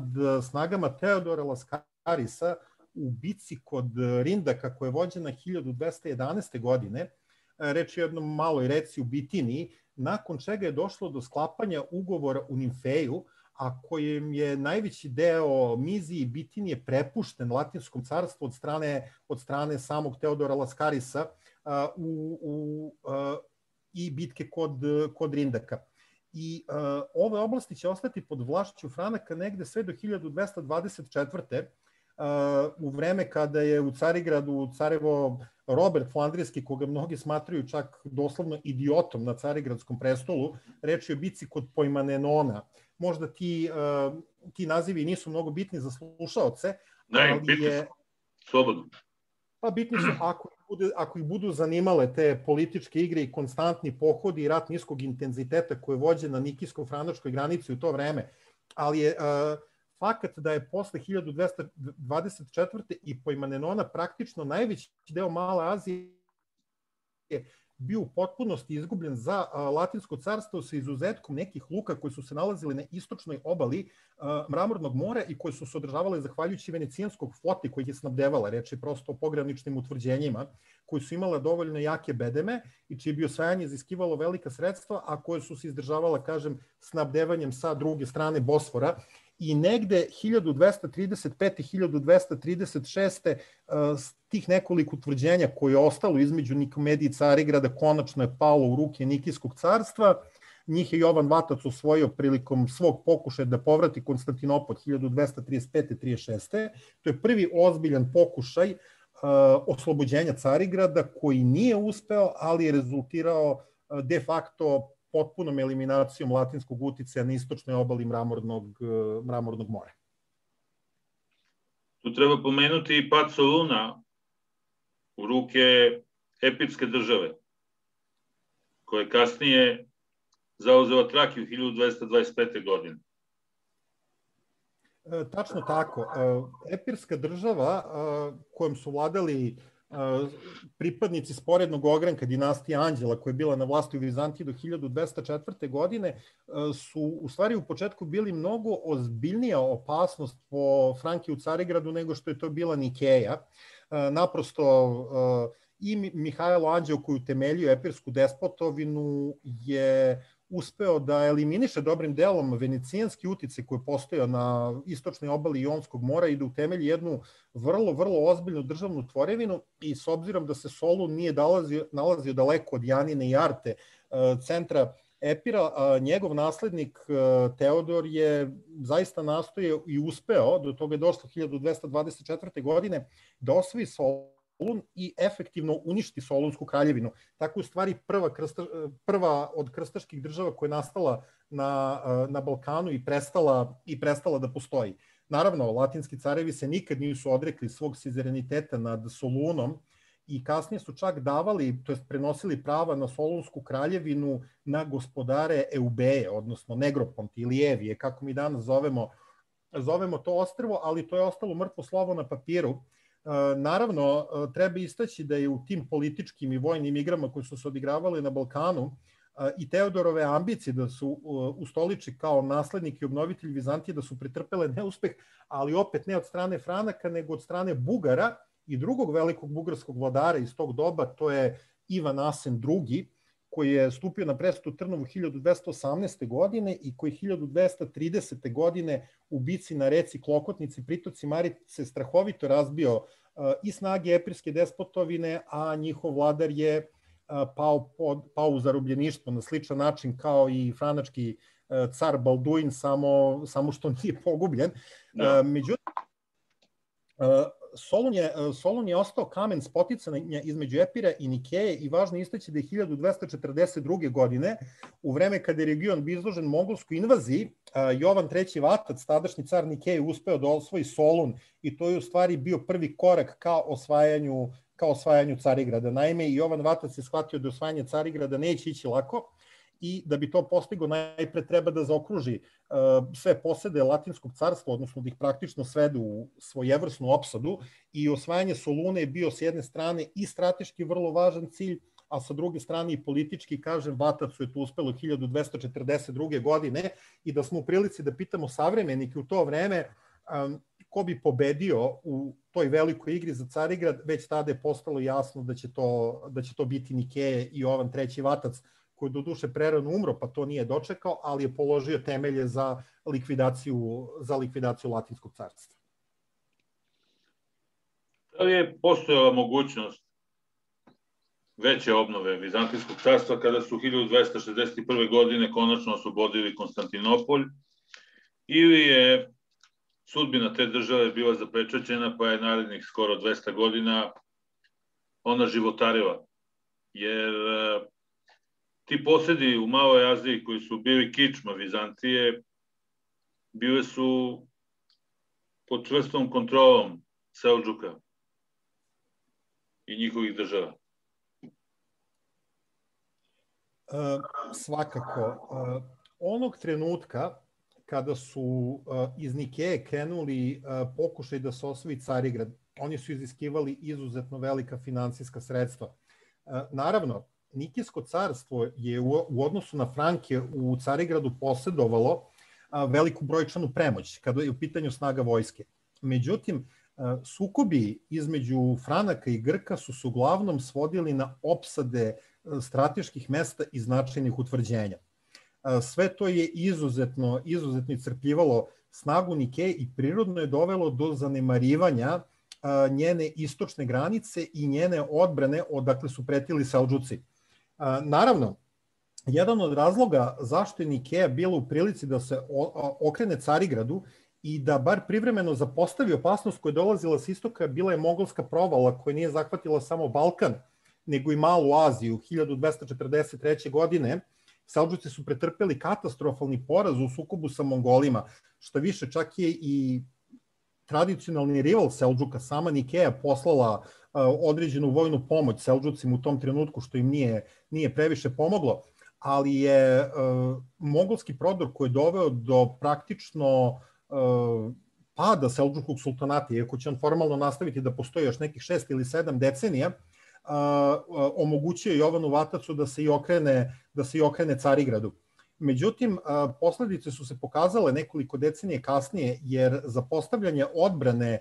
snagama Teodora Laskarisa u bici kod Rindaka koja je vođena hiljadu dvesta jedanaeste. godine. Reč je o jednom maloj reci u Bitiniji, nakon čega je došlo do sklapanja ugovora u Nimfeju, a kojem je najveći deo Mizije i Bitinije prepušten Latinskom carstvu od strane, od strane samog Teodora Laskarisa u, u, i bitke kod, kod Rindaka. I uh, ove oblasti će ostati pod vlašću Franaka negde sve do hiljadu dvesta dvadeset četvrte. Uh, u vreme kada je u Carigradu carevo Robert Flandrijski, koga mnogi smatraju čak doslovno idiotom na Carigradskom prestolu. Reč je o bici kod Pojmanenona. Možda ti, uh, ti nazivi nisu mnogo bitni za slušaoce, ne, ali bitni je... Slobodno. Pa bitni su ako ih, bude, ako ih budu zanimale te političke igre i konstantni pohodi i rat niskog intenziteta koje vođe na nikijsko-franačkoj granici u to vreme. Ali je... Uh, fakat da je posle hiljadu dvesta dvadeset četvrte i Pojmanenona praktično najveći deo Male Azije bio u potpunosti izgubljen za Latinsko carstvo sa izuzetkom nekih luka koji su se nalazili na istočnoj obali Mramornog mora i koje su se održavale zahvaljujući venecijanskog floti koji je snabdevala. Reč je prosto o pograničnim utvrđenjima koji su imala dovoljno jake bedeme i čije bi osvajanje iziskivalo velika sredstva, a koje su se izdržavala, kažem, snabdevanjem sa druge strane Bosfora. I negde hiljadu dvesta trideset pete. i hiljadu dvesta trideset šeste. tih nekoliko utvrđenja koje je ostalo između Nikomedije i Carigrada konačno je palo u ruke Nikijskog carstva. Njih je Jovan Vatac osvojio prilikom svog pokušaja da povrati Konstantinopolj hiljadu dvesta trideset pete. trideset šeste. To je prvi ozbiljan pokušaj uh, oslobođenja Carigrada koji nije uspeo, ali je rezultirao uh, de facto potpunom eliminacijom latinskog uticaja na istočnoj obali Mramornog, Mramornog mora. Tu treba pomenuti i pad Soluna u ruke epirske države, koja je kasnije zauzela Trakiju hiljadu dvesta dvadeset pete. godine. E, tačno tako. E, epirska država e, kojom su vladali pripadnici sporednog ogranka dinastije Anđela koja je bila na vlasti u Vizantiji do hiljadu dvesta četvrte. godine su u stvari u početku bili mnogo ozbiljnija opasnost po Franke u Carigradu nego što je to bila Nikeja. Naprosto i Mihajlo Anđeo koji utemeljio epirsku despotovinu je uspeo da eliminiše dobrim delom venecijanski uticaj koji je postojao na istočnoj obali Jonskog mora i da utemelji jednu vrlo, vrlo ozbiljnu državnu tvorevinu i s obzirom da se Solun nije nalazio, nalazio daleko od Janine i Arte, centra Epira, njegov naslednik Teodor je zaista nastojao i uspeo, do toga je došlo hiljadu dvesta dvadeset četvrte. godine, da osvoji Solun i efektivno uništi Solunsku kraljevinu. Tako u stvari prva, krsta, prva od krstaških država koja je nastala na, na Balkanu i prestala, i prestala da postoji. Naravno, latinski carevi se nikad nisu odrekli svog sizereniteta nad Solunom i kasnije su čak davali, to jest prenosili prava na Solunsku kraljevinu na gospodare Eubeje, odnosno Negroponte ili Evije, kako mi danas zovemo, zovemo to ostrvo, ali to je ostalo mrtvo slovo na papiru. Naravno, treba istaći da je u tim političkim i vojnim igrama koje su se odigravale na Balkanu i Teodorove ambicije da su ustoliči kao naslednik i obnovitelj Vizantije da su pretrpele neuspeh, ali opet ne od strane Franaka, nego od strane Bugara i drugog velikog bugarskog vladara iz tog doba, to je Ivan Asen drugi, koji je stupio na presto u Trnovu hiljadu dvesta osamnaeste. godine i koji hiljadu dvesta tridesete. godine u bici na reci Klokotnici, pritoci Marice, strahovito razbio i snage epirske despotovine, a njihov vladar je pao, pod, pao u zarobljeništvo na sličan način kao i franački car Balduin, samo, samo što nije pogubljen. No. Međutim, Solun je, Solun je ostao kamen spoticanja između Epira i Nikeje i važno istaći da je hiljadu dvesta četrdeset druge. godine, u vreme kada je region bio izložen mongolskoj invaziji, Jovan treći Vatac, tadašnji car Nikeje, uspeo da osvoji Solun i to je u stvari bio prvi korak ka osvajanju, ka osvajanju Carigrada. Naime, Jovan Vatac je shvatio da osvajanje Carigrada neće ići lako i da bi to postigo najpre treba da zaokruži uh, sve posede Latinskog carstva, odnosno da ih praktično svedu u svojevrsnu opsadu, i osvajanje Solune je bio s jedne strane i strateški vrlo važan cilj, a sa druge strane i politički. Kažem, Vatacu je to uspelo hiljadu dvesta četrdeset druge. godine i da smo u prilici da pitamo savremenike u to vreme um, ko bi pobedio u toj velikoj igri za Carigrad, već tada je postalo jasno da će to, da će to biti Nikeje i Jovan treći Vatac, koji do duše prerano umro, pa to nije dočekao, ali je položio temelje za likvidaciju, za likvidaciju Latinskog carstva. Da li je postojala mogućnost veće obnove Vizantijskog carstva kada su hiljadu dvesta šezdeset prve. godine konačno oslobodili Konstantinopolj, ili je sudbina te države bila zapečaćena, pa je narednih skoro dvesta godina ona životarila? Jer ti posedi u Maloj Aziji koji su bili kičma Vizantije, bile su pod čvrstom kontrolom Seldžuka i njihovih država. E, svakako. E, onog trenutka kada su e, iz Nikeje krenuli e, pokušaj da se osvoji Carigrad, oni su iziskivali izuzetno velika finansijska sredstva. E, naravno, Nikijsko carstvo je u odnosu na Franke u Carigradu posedovalo veliku brojčanu premoć kada je u pitanju snaga vojske. Međutim, sukobi između Franaka i Grka su se uglavnom svodili na opsade strateških mesta i značajnih utvrđenja. Sve to je izuzetno, izuzetno iscrpljivalo snagu Nikeje i prirodno je dovelo do zanemarivanja njene istočne granice i njene odbrane odakle su pretili Seldžuci. Naravno, jedan od razloga zašto je Nikeja bila u prilici da se okrene Carigradu i da bar privremeno zapostavi opasnost koja je dolazila s istoka, bila je mongolska provala koja nije zahvatila samo Balkan, nego i Malu Aziju. hiljadu dvesta četrdeset treće. godine Seldžuci su pretrpeli katastrofalni poraz u sukobu sa Mongolima, što više čak je i tradicionalni rival Seldžuka, sama Nikeja, poslala određenu vojnu pomoć Seldžucima u tom trenutku, što im nije, nije previše pomoglo, ali je uh, mongolski prodor koji je doveo do praktično uh, pada Seldžukog sultanata, iako će on formalno nastaviti da postoji još nekih šest ili sedam decenija, uh, uh, omogućio Jovanu Vatacu da se i okrene, da se i okrene Carigradu. Međutim, uh, posledice su se pokazale nekoliko decenije kasnije, jer za postavljanje odbrane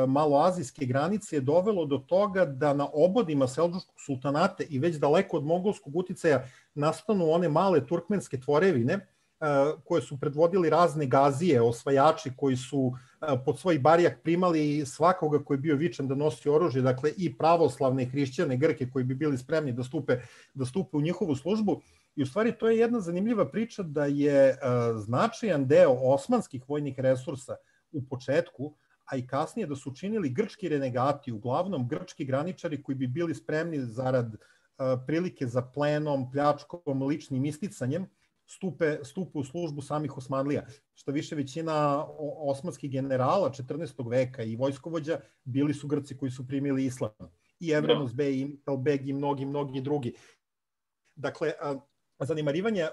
maloazijske granice je dovelo do toga da na obodima Seldžuškog sultanata i već daleko od mongolskog uticaja nastanu one male turkmenske tvorevine koje su predvodili razne gazije, osvajači koji su pod svoj barijak primali svakoga koji je bio vičan da nosi oružje, dakle i pravoslavne i hrišćane Grke koji bi bili spremni da stupe, da stupe u njihovu službu. I u stvari to je jedna zanimljiva priča da je značajan deo osmanskih vojnih resursa u početku, a i kasnije da su činili grčki renegati, uglavnom grčki graničari koji bi bili spremni zarad prilike za plenom, pljačkom, ličnim isticanjem, stupe, stupe u službu samih Osmanlija. Što više, većina osmanskih generala četrnaestog veka i vojskovođa bili su Grci koji su primili islam. I Evremus Bey, i Talbeg i mnogi, mnogi drugi. Dakle, zanemarivanje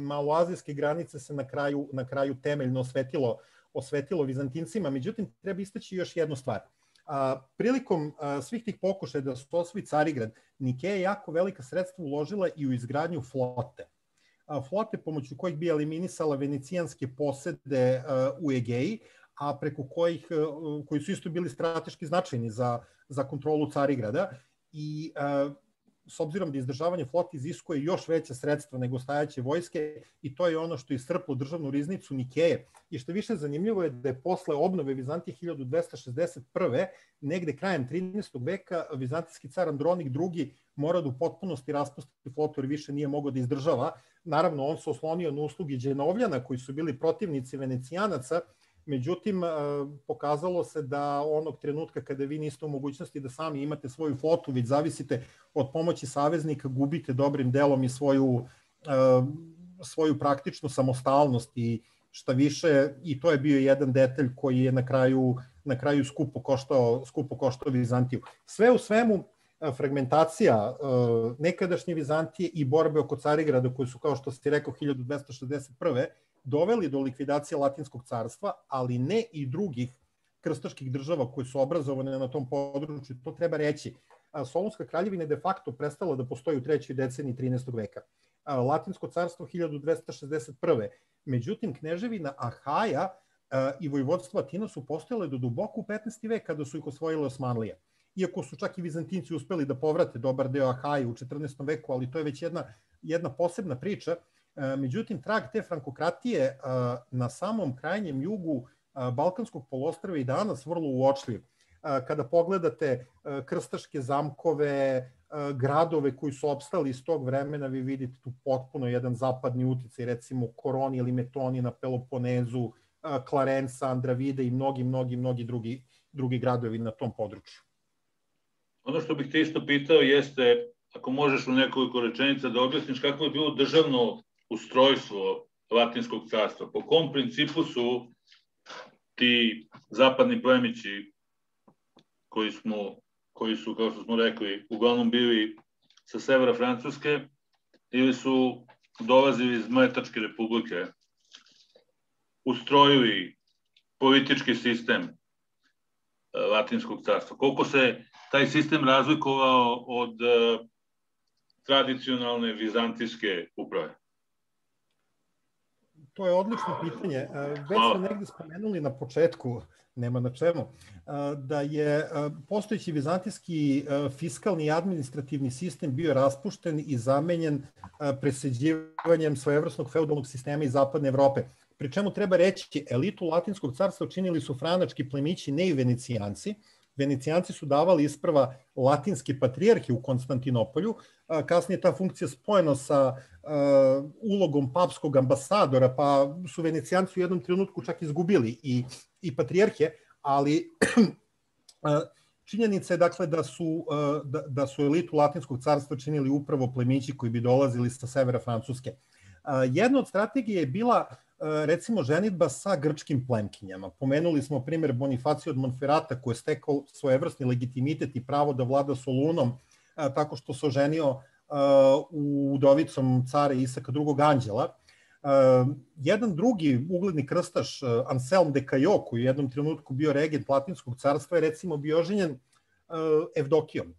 maloazijske granice se na kraju, na kraju temeljno osvetilo, osvetilo Vizantincima. Međutim, treba istaći još jednu stvar. A, prilikom a, svih tih pokušaja da se osvoji Carigrad, Nikeja je jako velika sredstva uložila i u izgradnju flote. A, flote pomoću kojih bi eliminisala venecijanske posede a, u Egeji, a preko kojih, a, koji su isto bili strateški značajni za, za kontrolu Carigrada. I a, s obzirom da izdržavanje flote iziskuje još veća sredstva nego stajaće vojske, i to je ono što je iscrplo državnu riznicu Nikeje. I što više zanimljivo je da je posle obnove Vizantije hiljadu dvesta šezdeset prve. negde krajem trinaestog veka vizantijski car Andronik drugi mora da u potpunosti raspusti flotu jer više nije mogao da izdržava. Naravno, on se oslonio na usluge Dženovljana koji su bili protivnici Venecijanaca. Međutim, pokazalo se da onog trenutka kada vi niste u mogućnosti da sami imate svoju flotu, već zavisite od pomoći saveznika, gubite dobrim delom i svoju, svoju praktičnu samostalnost i šta više, i to je bio jedan detalj koji je na kraju, na kraju skupo koštao, skupo koštao Vizantiju. Sve u svemu, fragmentacija nekadašnje Vizantije i borbe oko Carigrada, koje su, kao što ste rekao, hiljadu dvesta šezdeset prve. doveli do likvidacije Latinskog carstva, ali ne i drugih krstaških država koje su obrazovane na tom području. To treba reći. Solunska kraljevina je de facto prestala da postoji u trećoj deceniji trinaestog veka. Latinsko carstvo hiljadu dvesta šezdeset prve. Međutim, kneževina Ahaja i vojvodstvo Atina su postojale do duboko u petnaesti vek kada su ih osvojile Osmanlije. Iako su čak i Vizantinci uspeli da povrate dobar deo Ahaje u četrnaestom veku, ali to je već jedna, jedna posebna priča. Međutim, trag te frankokratije na samom krajnjem jugu Balkanskog poluostrva i danas vrlo uočljiv. Kada pogledate krstaške zamkove, gradove koji su opstali iz tog vremena, vi vidite tu potpuno jedan zapadni uticaj, recimo Koroni ili Metoni na Peloponezu, Klarensa, Andravide i mnogi, mnogi, mnogi drugi, drugi gradovi na tom području. Ono što bih te isto pitao jeste, ako možeš u nekoliko rečenica da objasniš kako je bilo državno ustrojstvo Latinskog carstva. Po kom principu su ti zapadni plemići koji, smo, koji su, kao što smo rekli, uglavnom bili sa severa Francuske ili su dolazili iz Mletačke republike, ustrojili politički sistem Latinskog carstva? Koliko se taj sistem razlikovao od uh, tradicionalne vizantijske uprave? To je odlično pitanje. Već smo negde spomenuli na početku, nema na čemu, da je postojeći vizantijski fiskalni i administrativni sistem bio raspušten i zamenjen presađivanjem svojevrsnog feudalnog sistema iz zapadne Evrope. Pri čemu treba reći, elitu Latinskog carstva činili su franački plemići, ne i Venecijanci. Venecijanci su davali isprva latinske patrijarhe u Konstantinopolju, kasnije ta funkcija spojena sa uh, ulogom papskog ambasadora, pa su Venecijanci u jednom trenutku čak izgubili i, i patrijarhe, ali činjenica je dakle da su, uh, da, da su elitu Latinskog carstva činili upravo plemići koji bi dolazili sa severa Francuske. Uh, jedna od strategije je bila recimo ženidba sa grčkim plemkinjama. Pomenuli smo primjer Bonifacija od Monferata koji je stekao svojevrsni legitimitet i pravo da vlada Solunom tako što se oženio u udovicom cara Isaka drugog anđela. Jedan drugi ugledni krstaš, Anselm de Cajo, koji u jednom trenutku bio regent Latinskog carstva, je recimo bio oženjen Evdokijom,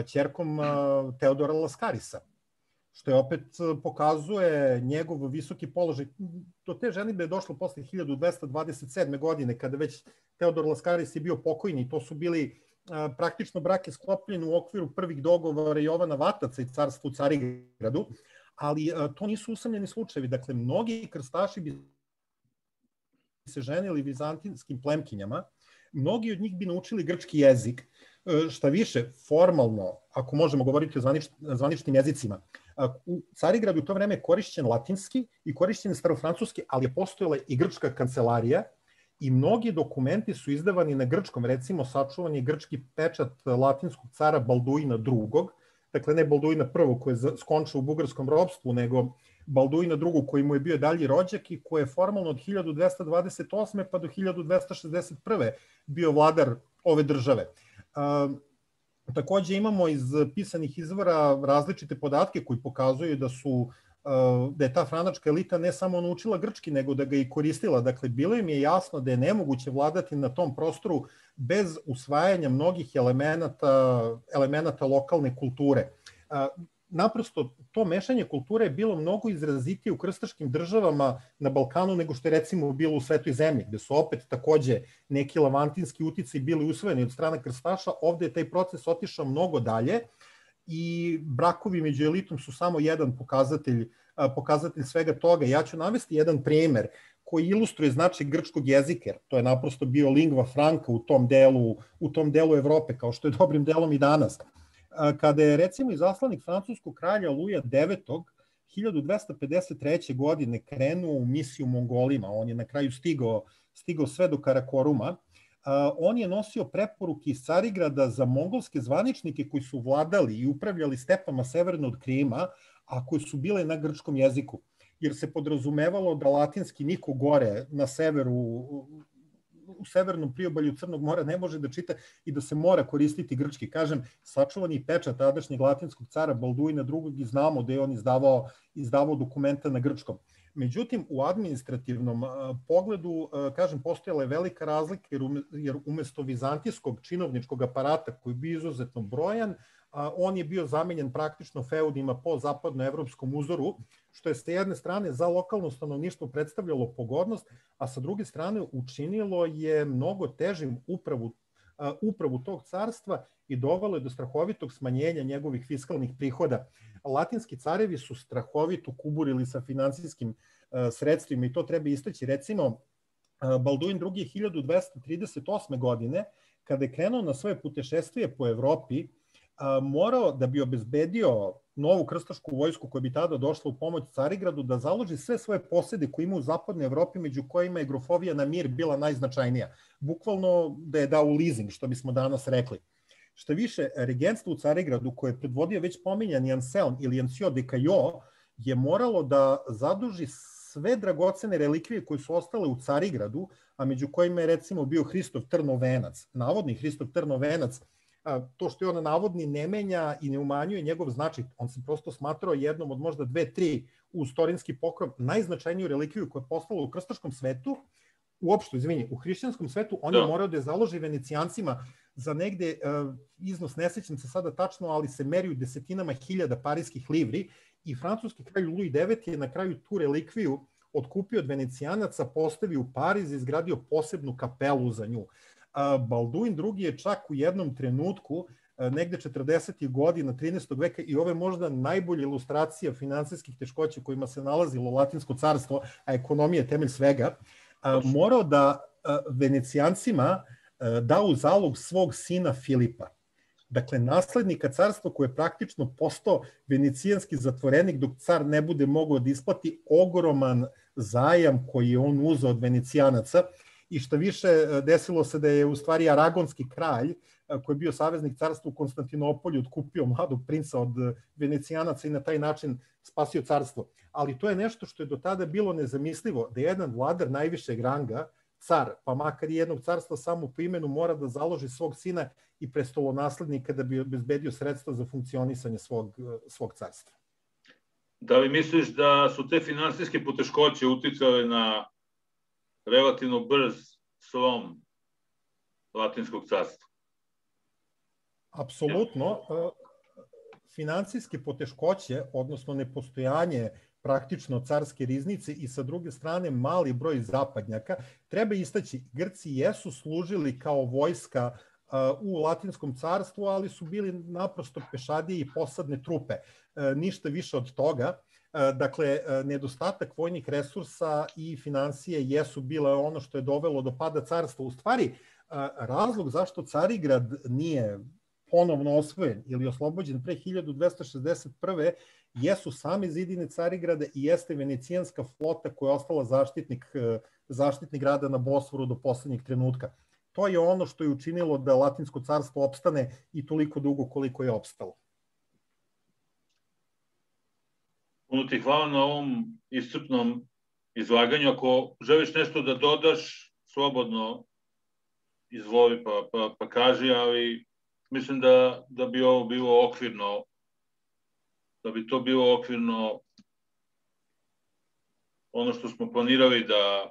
ćerkom Teodora Laskarisa. što je opet pokazuje njegov visoki položaj. Do te ženidbe je došlo posle hiljadu dvesta dvadeset sedme. godine, kada već Teodor Laskaris je bio pokojni. To su bili praktično brake sklopljeni u okviru prvih dogovora Jovana Vataca i carstva u Carigradu, ali to nisu usamljeni slučajevi. Dakle, mnogi krstaši bi se ženili vizantinskim plemkinjama, mnogi od njih bi naučili grčki jezik, šta više, formalno, ako možemo govoriti o zvaničnim jezicima, u Carigradu u to vreme je korišćen latinski i korišćen starofrancuski, ali je postojala i grčka kancelarija i mnogi dokumenti su izdavani na grčkom, recimo sačuvan je grčki pečat latinskog cara Balduina drugog, dakle ne Balduina prvog koji je skončao u bugarskom ropstvu, nego Balduina drugog koji mu je bio dalji rođak i koji je formalno od hiljadu dvesta dvadeset osme pa do hiljadu dvesta šezdeset prve bio vladar ove države. Takođe imamo iz pisanih izvora različite podatke koji pokazuju da su da je ta franačka elita ne samo naučila grčki, nego da ga i koristila. Dakle, bilo im je jasno da je nemoguće vladati na tom prostoru bez usvajanja mnogih elemenata, elemenata lokalne kulture. Naprosto, to mešanje kulture je bilo mnogo izrazitije u krstaškim državama na Balkanu nego što je recimo bilo u Svetoj zemlji, gde su opet takođe neki lavantinski uticaji bili usvojeni od strane krstaša. Ovde je taj proces otišao mnogo dalje i brakovi među elitom su samo jedan pokazatelj, pokazatelj svega toga. Ja ću navesti jedan primer koji ilustruje značaj grčkog jezika, to je naprosto bio lingva franca u tom delu, u tom delu Evrope, kao što je dobrim delom i danas. Kada je recimo izaslanik francuskog kralja Luja devetog hiljadu dvesta pedeset treće. godine krenuo u misiju Mongolima, on je na kraju stigao, stigao sve do Karakoruma, on je nosio preporuke iz Carigrada za mongolske zvaničnike koji su vladali i upravljali stepama severno od Krima, a koji su bile na grčkom jeziku, jer se podrazumevalo da latinski niko gore na severu, u severnom priobalju Crnog mora ne može da čita i da se mora koristiti grčki. Kažem, sačuvan je pečat tadašnjeg latinskog cara Balduina drugog i znamo da je on izdavao, izdavao dokumenta na grčkom. Međutim, u administrativnom pogledu, kažem, postojala je velika razlika, jer umesto vizantijskog činovničkog aparata koji je bio izuzetno brojan, on je bio zamenjen praktično feudima po zapadnoevropskom uzoru, što je sa jedne strane za lokalno stanovništvo predstavljalo pogodnost, a sa druge strane učinilo je mnogo težim upravu, upravu tog carstva i dovelo je do strahovitog smanjenja njegovih fiskalnih prihoda. Latinski carevi su strahovito kuburili sa finansijskim sredstvima i to treba istaći. Recimo, Balduin drugi. hiljadu dvesta trideset osme. godine, kada je krenuo na svoje putešestvije po Evropi, morao da bi obezbedio novu krstašku vojsku koja bi tada došla u pomoć Carigradu da založi sve svoje posede koje ima u zapadnoj Evropi, među kojima je grofovija na Mir bila najznačajnija. Bukvalno da je dao u leasing, što bismo danas rekli. Šta više, regentstvo u Carigradu koje je predvodio već pominjani Anselm ili Ancio de Cajo je moralo da zaduži sve dragocene relikvije koje su ostale u Carigradu, a među kojima je recimo bio Hristov trnovenac, navodni Hristov trnovenac. To što je on navodni ne menja i ne umanjuje njegov značaj, on se prosto smatrao jednom od možda dve, tri u istorijski pokrov, najznačajniju relikviju koja je postala u krstaškom svetu, uopšte, izvini, u hrišćanskom svetu, on je morao da je založi Venecijancima za negde, iznos ne sećam se sada tačno, ali se meri u desetinama hiljada parijskih livri i francuski kralj Louis deveti je na kraju tu relikviju otkupio od Venecijanaca, postavio u Pariz i izgradio posebnu kapelu za nju. Balduin drugi. je čak u jednom trenutku, negde četrdesetih godina trinaestog. veka, i ovo je možda najbolja ilustracija finansijskih teškoća kojima se nalazilo Latinsko carstvo, a ekonomija je temelj svega, morao da Venecijancima da u zalog svog sina Filipa. Dakle, naslednika carstva koji je praktično postao venecijanski zatvorenik dok car ne bude mogao da isplati ogroman zajam koji je on uzeo od Venecijanaca. I šta više, desilo se da je u stvari aragonski kralj, koji je bio saveznik carstva u Konstantinopolju, otkupio mladog princa od Venecijanaca i na taj način spasio carstvo. Ali to je nešto što je do tada bilo nezamislivo, da jedan vladar najvišeg ranga, car, pa makar i jednog carstva samo po imenu, mora da založi svog sina i prestolonaslednika da bi obezbedio sredstva za funkcionisanje svog, svog carstva. Da li misliš da su te finansijske poteškoće uticale na relativno brz slom Latinskog carstva? Apsolutno. financijske poteškoće, odnosno nepostojanje praktično carske riznice i sa druge strane mali broj zapadnjaka, treba istaći, Grci jesu služili kao vojska u Latinskom carstvu, ali su bili naprosto pešadije i posadne trupe. Ništa više od toga. Dakle, nedostatak vojnih resursa i financije jesu bile ono što je dovelo do pada carstva. U stvari, razlog zašto Carigrad nije ponovno osvojen ili oslobođen pre hiljadu dvesta šezdeset prve jesu same zidine Carigrada i jeste venecijanska flota koja je ostala zaštitnik, zaštitnik grada na Bosforu do poslednjeg trenutka. To je ono što je učinilo da Latinsko carstvo opstane i toliko dugo koliko je opstalo. Puno ti hvala na ovom iscrpnom izlaganju. Ako želiš nešto da dodaš, slobodno izvoli pa, pa, pa kaži, ali mislim da, da bi ovo bilo okvirno, da bi to bilo okvirno ono što smo planirali da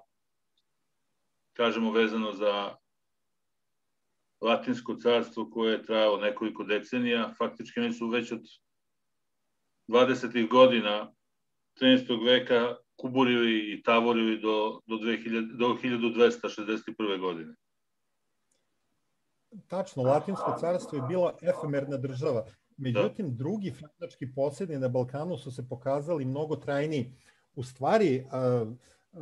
kažemo vezano za Latinsko carstvo koje je trajalo nekoliko decenija. Faktički oni su već od dvadesetih godina trinaestog veka kuburili i tavorili do, do, dve hiljade, do hiljadu dvesta šezdeset prve. godine. Tačno, Latinsko carstvo je bila efemerna država. Međutim, drugi frandački posjedi na Balkanu su se pokazali mnogo trajniji. U stvari,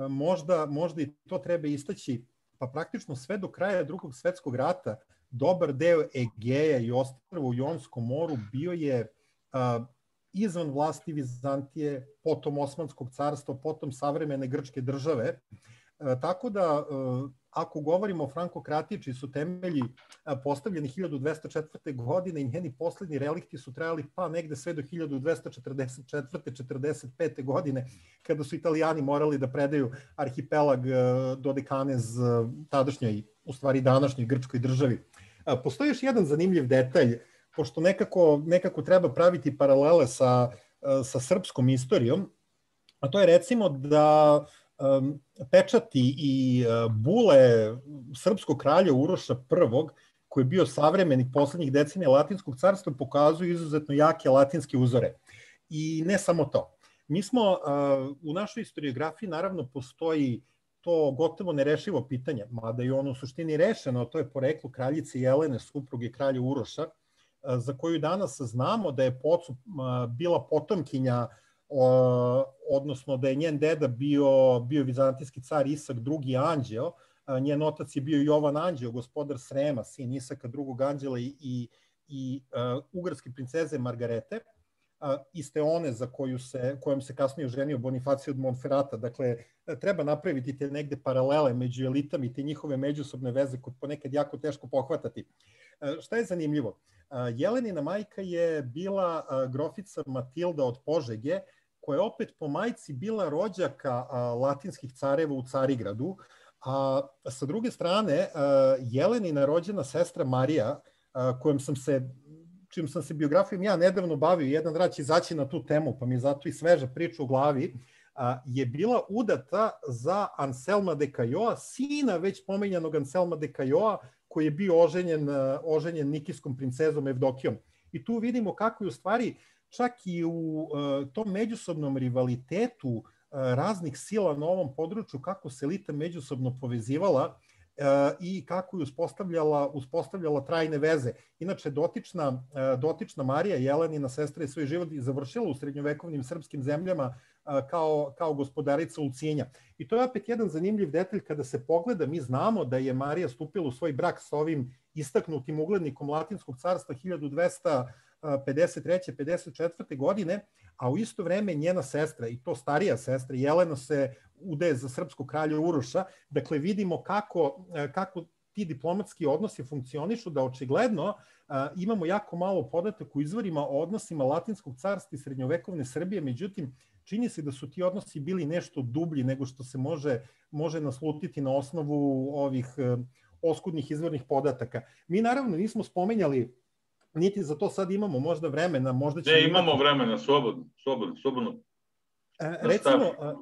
možda, možda i to treba istaći, pa praktično sve do kraja Drugog svetskog rata, dobar deo Egeja i ostrva u Jonskom moru bio je izvan vlasti Vizantije, potom Osmanskog carstva, potom savremene grčke države. Tako da, ako govorimo o frankokratiji, čiji su temelji postavljeni hiljadu dvesta četvrte. godine i njeni poslednji relikti su trajali pa negde sve do hiljadu dvesta četrdeset četvrte. četrdeset pete. godine, kada su Italijani morali da predaju arhipelag Dodekanez tadašnjoj, u stvari današnjoj grčkoj državi. Postoji još jedan zanimljiv detalj, pošto nekako, nekako treba praviti paralele sa, sa srpskom istorijom, a to je recimo da um, pečati i uh, bule srpskog kralja Uroša prvog, koji je bio savremenik poslednjih decenija Latinskog carstva, pokazuju izuzetno jake latinske uzore. I ne samo to. Mi smo, uh, u našoj historiografiji naravno postoji to gotovo nerešivo pitanje, mada je ono u suštini rešeno, to je poreklo kraljice Jelene, supruge kralja Uroša, za koju danas znamo da je Pocu bila potomkinja, odnosno da je njen deda bio, bio vizantijski car Isak drugi anđeo, njen otac je bio Jovan Anđeo, gospodar Srema, sin Isaka drugog anđela i, i, i uh, ugarske princeze Margarete, uh, iste one za koju se, kojom se kasnije oženio Bonifacio od Monferrata. Dakle, treba napraviti te negde paralele među elitama i te njihove međusobne veze koje ponekad jako teško pohvatati. Uh, šta je zanimljivo? Jelenina majka je bila grofica Matilda od Požege, koja je opet po majci bila rođaka latinskih careva u Carigradu, a sa druge strane Jelenina rođena sestra Marija, kojom sam se, čijom sam se biografijom ja nedavno bavio, jedan rad će izaći na tu temu, pa mi je zato i sveža priča u glavi, je bila udata za Anselma de Cajoa, sina već pomenjanog Anselma de Cajoa, koji je bio oženjen, oženjen nikijskom princezom Evdokijom. I tu vidimo kako je u stvari čak i u uh, tom međusobnom rivalitetu uh, raznih sila na ovom području, kako se elita međusobno povezivala uh, i kako je uspostavljala, uspostavljala trajne veze. Inače, dotična, uh, dotična Marija Jelenina, sestra, je svoj život završila u srednjovekovnim srpskim zemljama Kao, kao gospodarica Ulcinja. I to je opet jedan zanimljiv detalj kada se pogleda. Mi znamo da je Marija stupila u svoj brak sa ovim istaknutim uglednikom Latinskog carstva hiljadu dvesta pedeset treće pedeset četvrte. godine, a u isto vreme njena sestra, i to starija sestra, Jelena, se udaje za srpskog kralja Uroša. Dakle, vidimo kako, kako ti diplomatski odnosi funkcionišu, da očigledno a, imamo jako malo podataka u izvorima o odnosima Latinskog carstva i srednjovekovne Srbije, međutim, čini se da su ti odnosi bili nešto dublji nego što se može, može naslutiti na osnovu ovih e, oskudnih izvornih podataka. Mi naravno nismo spomenjali, niti za to sad imamo možda vremena, možda ćemo... Ne, imamo imati... vremena, slobodno, slobodno, slobodno. E, recimo, a,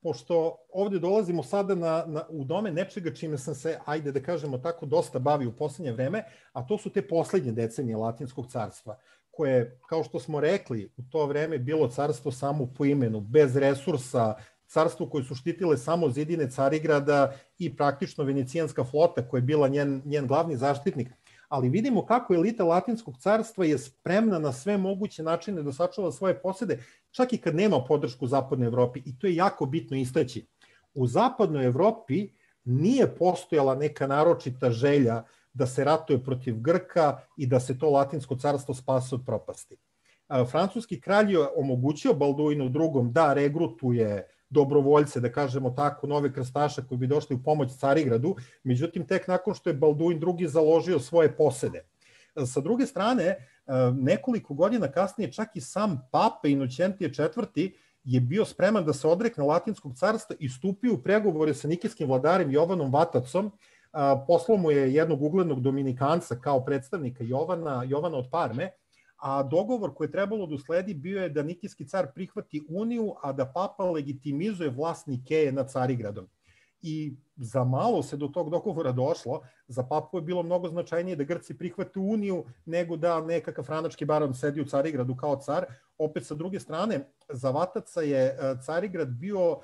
pošto ovde dolazimo sada na, na, u dome nečega čime sam se, ajde da kažemo tako, dosta bavio u poslednje vreme, a to su te poslednje decenije Latinskog carstva. koje, kao što smo rekli, u to vreme bilo carstvo samo po imenu, bez resursa, carstvo koje su štitile samo zidine Carigrada i praktično venecijanska flota koja je bila njen, njen glavni zaštitnik. Ali vidimo kako elita Latinskog carstva je spremna na sve moguće načine da sačuva svoje posede, čak i kad nema podršku u Zapadnoj Evropi. I to je jako bitno istaći. U Zapadnoj Evropi nije postojala neka naročita želja da se ratuje protiv Grka i da se to Latinsko carstvo spase od propasti. Francuski kralj je omogućio Balduinu drugom da regrutuje dobrovoljce, da kažemo tako, nove krstaše koji bi došli u pomoć Carigradu, međutim tek nakon što je Balduin drugi založio svoje posede. Sa druge strane, nekoliko godina kasnije čak i sam papa Inoćentije četvrti je bio spreman da se odrekne Latinskog carstva i stupio u pregovore sa nikejskim vladarem Jovanom Vatacom. Poslao mu je jednog uglednog dominikanca kao predstavnika Jovana, Jovana od Parme, a dogovor koji je trebalo da usledi bio je da nikijski car prihvati uniju, a da papa legitimizuje vlast Nikeje nad Carigradom. I za malo se do tog dogovora došlo, za papu je bilo mnogo značajnije da Grci prihvate uniju nego da nekakav franački baron sedi u Carigradu kao car. Opet sa druge strane, za Vataca je Carigrad bio,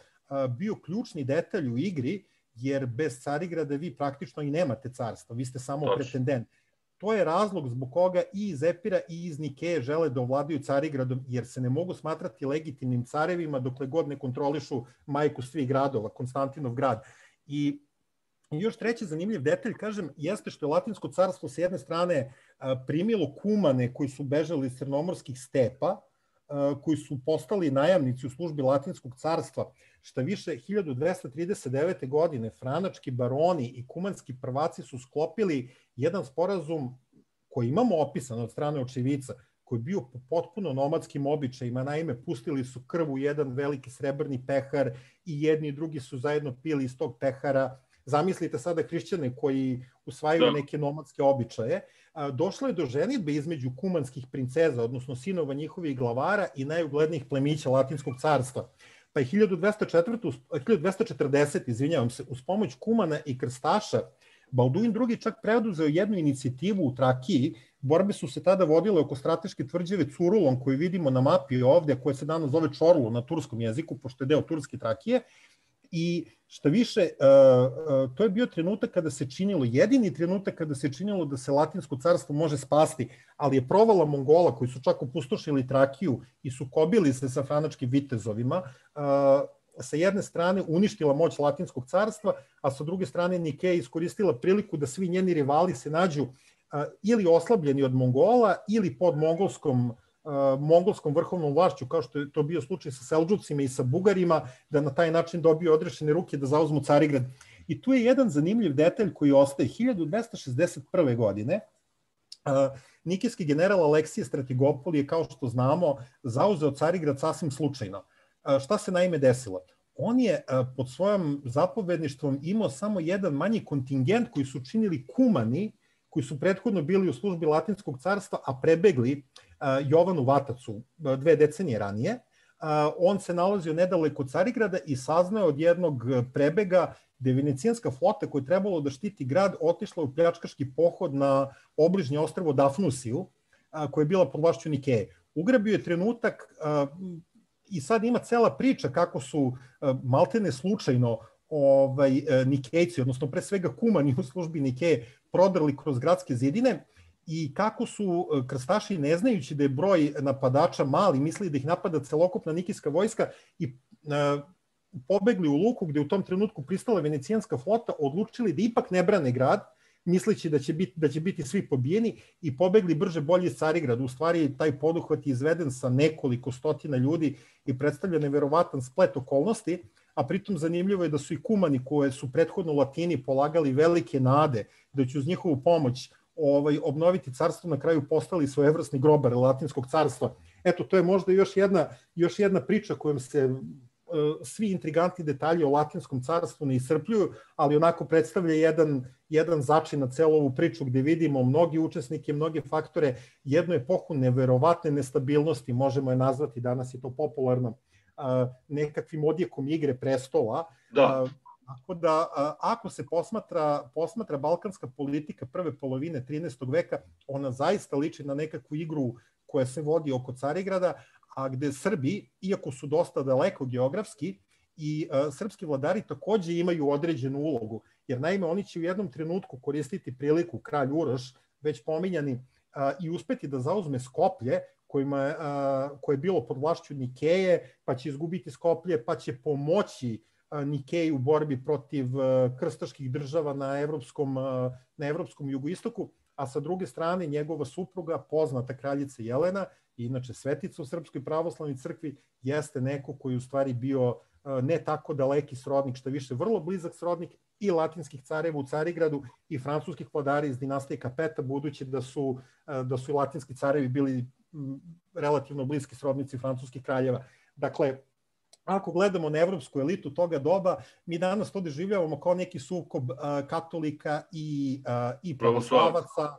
bio ključni detalj u igri, jer bez Carigrada vi praktično i nemate carstva, vi ste samo pretendent. To je razlog zbog koga i iz Epira i iz Nikeje žele da ovladaju Carigradom, jer se ne mogu smatrati legitimnim carevima dokle god ne kontrolišu majku svih gradova, Konstantinov grad. I još treći zanimljiv detalj, kažem, jeste što je Latinsko carstvo s jedne strane primilo kumane koji su bežali iz crnomorskih stepa, koji su postali najamnici u službi Latinskog carstva. Šta više, hiljadu dvesta trideset devete. godine franački baroni i kumanski prvaci su sklopili jedan sporazum koji imamo opisan od strane očevica, koji je bio po potpuno nomadskim običajima. Naime, pustili su krv u jedan veliki srebrni pehar i jedni i drugi su zajedno pili iz tog pehara. Zamislite sada hrišćane koji usvajaju neke nomadske običaje. Došlo je do ženidbe između kumanskih princeza, odnosno sinova njihovih glavara i najuglednijih plemića Latinskog carstva. Pa je hiljadu dvesta četrdesete. izvinjavam se, uz pomoć kumana i krstaša, Balduin drugi čak preduzeo jednu inicijativu u Trakiji. Borbe su se tada vodile oko strateške tvrđave Curulon, koju vidimo na mapi ovde, koja se danas zove Čorlu na turskom jeziku, pošto je deo Turske Trakije. I šta više, to je bio trenutak kada se činilo, jedini trenutak kada se činilo da se Latinsko carstvo može spasti, ali je provala Mongola koji su čak opustošili Trakiju i sukobili se sa franačkim vitezovima, sa jedne strane uništila moć Latinskog carstva, a sa druge strane Nikeja iskoristila priliku da svi njeni rivali se nađu ili oslabljeni od Mongola ili pod mongolskom mongolskom vrhovnom vlašću, kao što je to bio slučaj sa Seldžucima i sa Bugarima, da na taj način dobiju odrešene ruke da zauzmu Carigrad. I tu je jedan zanimljiv detalj koji ostaje. hiljadu dvesta šezdeset prve. godine nikejski general Aleksije Stratigopol je, kao što znamo, zauzeo Carigrad sasvim slučajno. Šta se naime desilo? On je pod svojom zapovedništvom imao samo jedan manji kontingent koji su činili kumani, koji su prethodno bili u službi Latinskog carstva, a prebegli Jovanu Vatacu dve decenije ranije. On se nalazio nedaleko od Carigrada i saznao od jednog prebega da je venecijanska flota koja je trebalo da štiti grad otišla u pljačkaški pohod na obližnje ostrvo Dafnusiju, koja je bila pod vlašću Nikeje. Ugrabio je trenutak i sad ima cela priča kako su maltene slučajno ovaj, Nikejci, odnosno pre svega kumani u službi Nikeje, prodrli kroz gradske zidine i kako su krstaši, ne znajući da je broj napadača mali, mislili da ih napada celokupna nikijska vojska i a, pobegli u luku gde u tom trenutku pristala venecijanska flota, odlučili da ipak ne brane grad, misleći da će biti, da će biti svi pobijeni i pobegli brže bolje iz Carigrada. U stvari, taj poduhvat je izveden sa nekoliko stotina ljudi i predstavlja neverovatan splet okolnosti, a pritom zanimljivo je da su i kumani koje su prethodno Latini polagali velike nade da će uz njihovu pomoć ovaj, obnoviti carstvo, na kraju postali svojevrsni grobar Latinskog carstva. Eto, to je možda još jedna, još jedna priča kojom se uh, svi intrigantni detalji o Latinskom carstvu ne iscrpljuju, ali onako predstavlja jedan, jedan začin na celu ovu priču gde vidimo mnogi učesnike, mnoge faktore, jednu epohu neverovatne nestabilnosti, možemo je nazvati, danas je to popularno, uh, nekakvim odjekom Igre prestola. Da. Uh, Tako da, ako se posmatra, posmatra balkanska politika prve polovine trinaestog veka, ona zaista liči na nekakvu igru koja se vodi oko Carigrada, a gde Srbi, iako su dosta daleko geografski, i uh, srpski vladari takođe imaju određenu ulogu, jer naime oni će u jednom trenutku koristiti priliku, kralj Uroš, već pominjani, uh, i uspeti da zauzme Skoplje, kojima, uh, koje je bilo pod vlašću Nikeje, pa će izgubiti Skoplje, pa će pomoći uh, Nikeji u borbi protiv uh, krstaških država na evropskom, uh, na evropskom jugoistoku, a sa druge strane njegova supruga, poznata kraljica Jelena, inače svetica u Srpskoj pravoslavnoj crkvi, jeste neko koji u stvari bio ne tako daleki srodnik, što više vrlo blizak srodnik i latinskih careva u Carigradu i francuskih vladara iz dinastije Kapeta, budući da su, da su i latinski carevi bili relativno bliski srodnici francuskih kraljeva. Dakle, ako gledamo na evropsku elitu toga doba, mi danas to doživljavamo kao neki sukob katolika i, i pravoslavaca,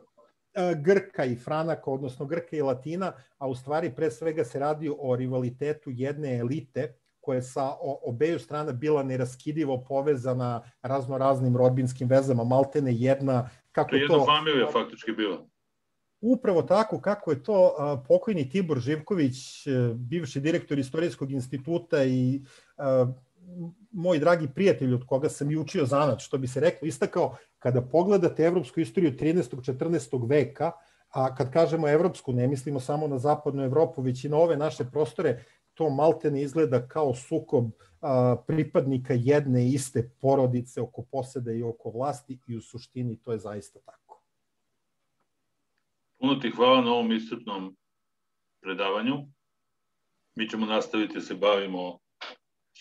Grka i Franaka, odnosno Grka i Latina, a u stvari pre svega se radi o rivalitetu jedne elite koja je sa obeju strana bila neraskidivo povezana razno raznim rodbinskim vezama, maltene jedna... Kako to je jedna to, familija faktički bila. Upravo tako, kako je to a, pokojni Tibor Živković, bivši direktor Istorijskog instituta i a, moj dragi prijatelj od koga sam i učio zanat, što bi se reklo, istakao, kada pogledate evropsku istoriju trinaestog četrnaestog veka, a kad kažemo evropsku, ne mislimo samo na zapadnu Evropu, već i na ove naše prostore, to maltene izgleda kao sukob a, pripadnika jedne iste porodice oko poseda i oko vlasti i u suštini to je zaista tako. Puno ti hvala na ovom iscrpnom predavanju. Mi ćemo nastaviti da se bavimo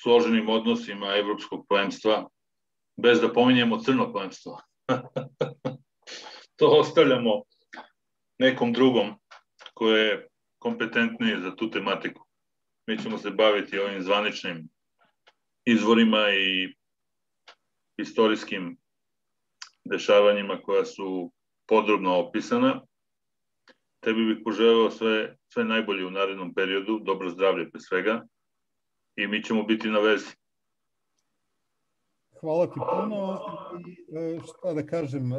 složenim odnosima evropskog plemstva, bez da pominjemo crno plemstvo. To ostavljamo nekom drugom ko je kompetentniji za tu tematiku. Mi ćemo se baviti ovim zvaničnim izvorima i istorijskim dešavanjima koja su podrobno opisana. Tebi bih poželeo sve, sve najbolje u narednom periodu, dobro zdravlje pre svega i mi ćemo biti na vezi. Hvala ti puno i šta da kažem,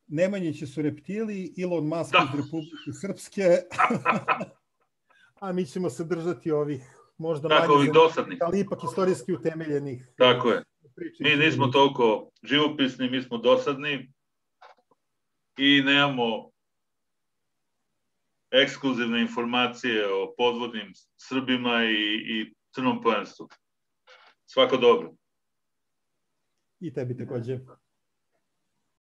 Nemanjići su reptili, Elon Musk da. Iz Republike Srpske, a mi ćemo se držati ovih možda tako, manje dosadnih, ali ipak istorijski utemeljenih. Tako je. Mi nismo toliko živopisni, mi smo dosadni i nemamo ekskluzivne informacije o podvodnim Srbima i, i crnom plemstvu. Svako dobro. I tebi takođe.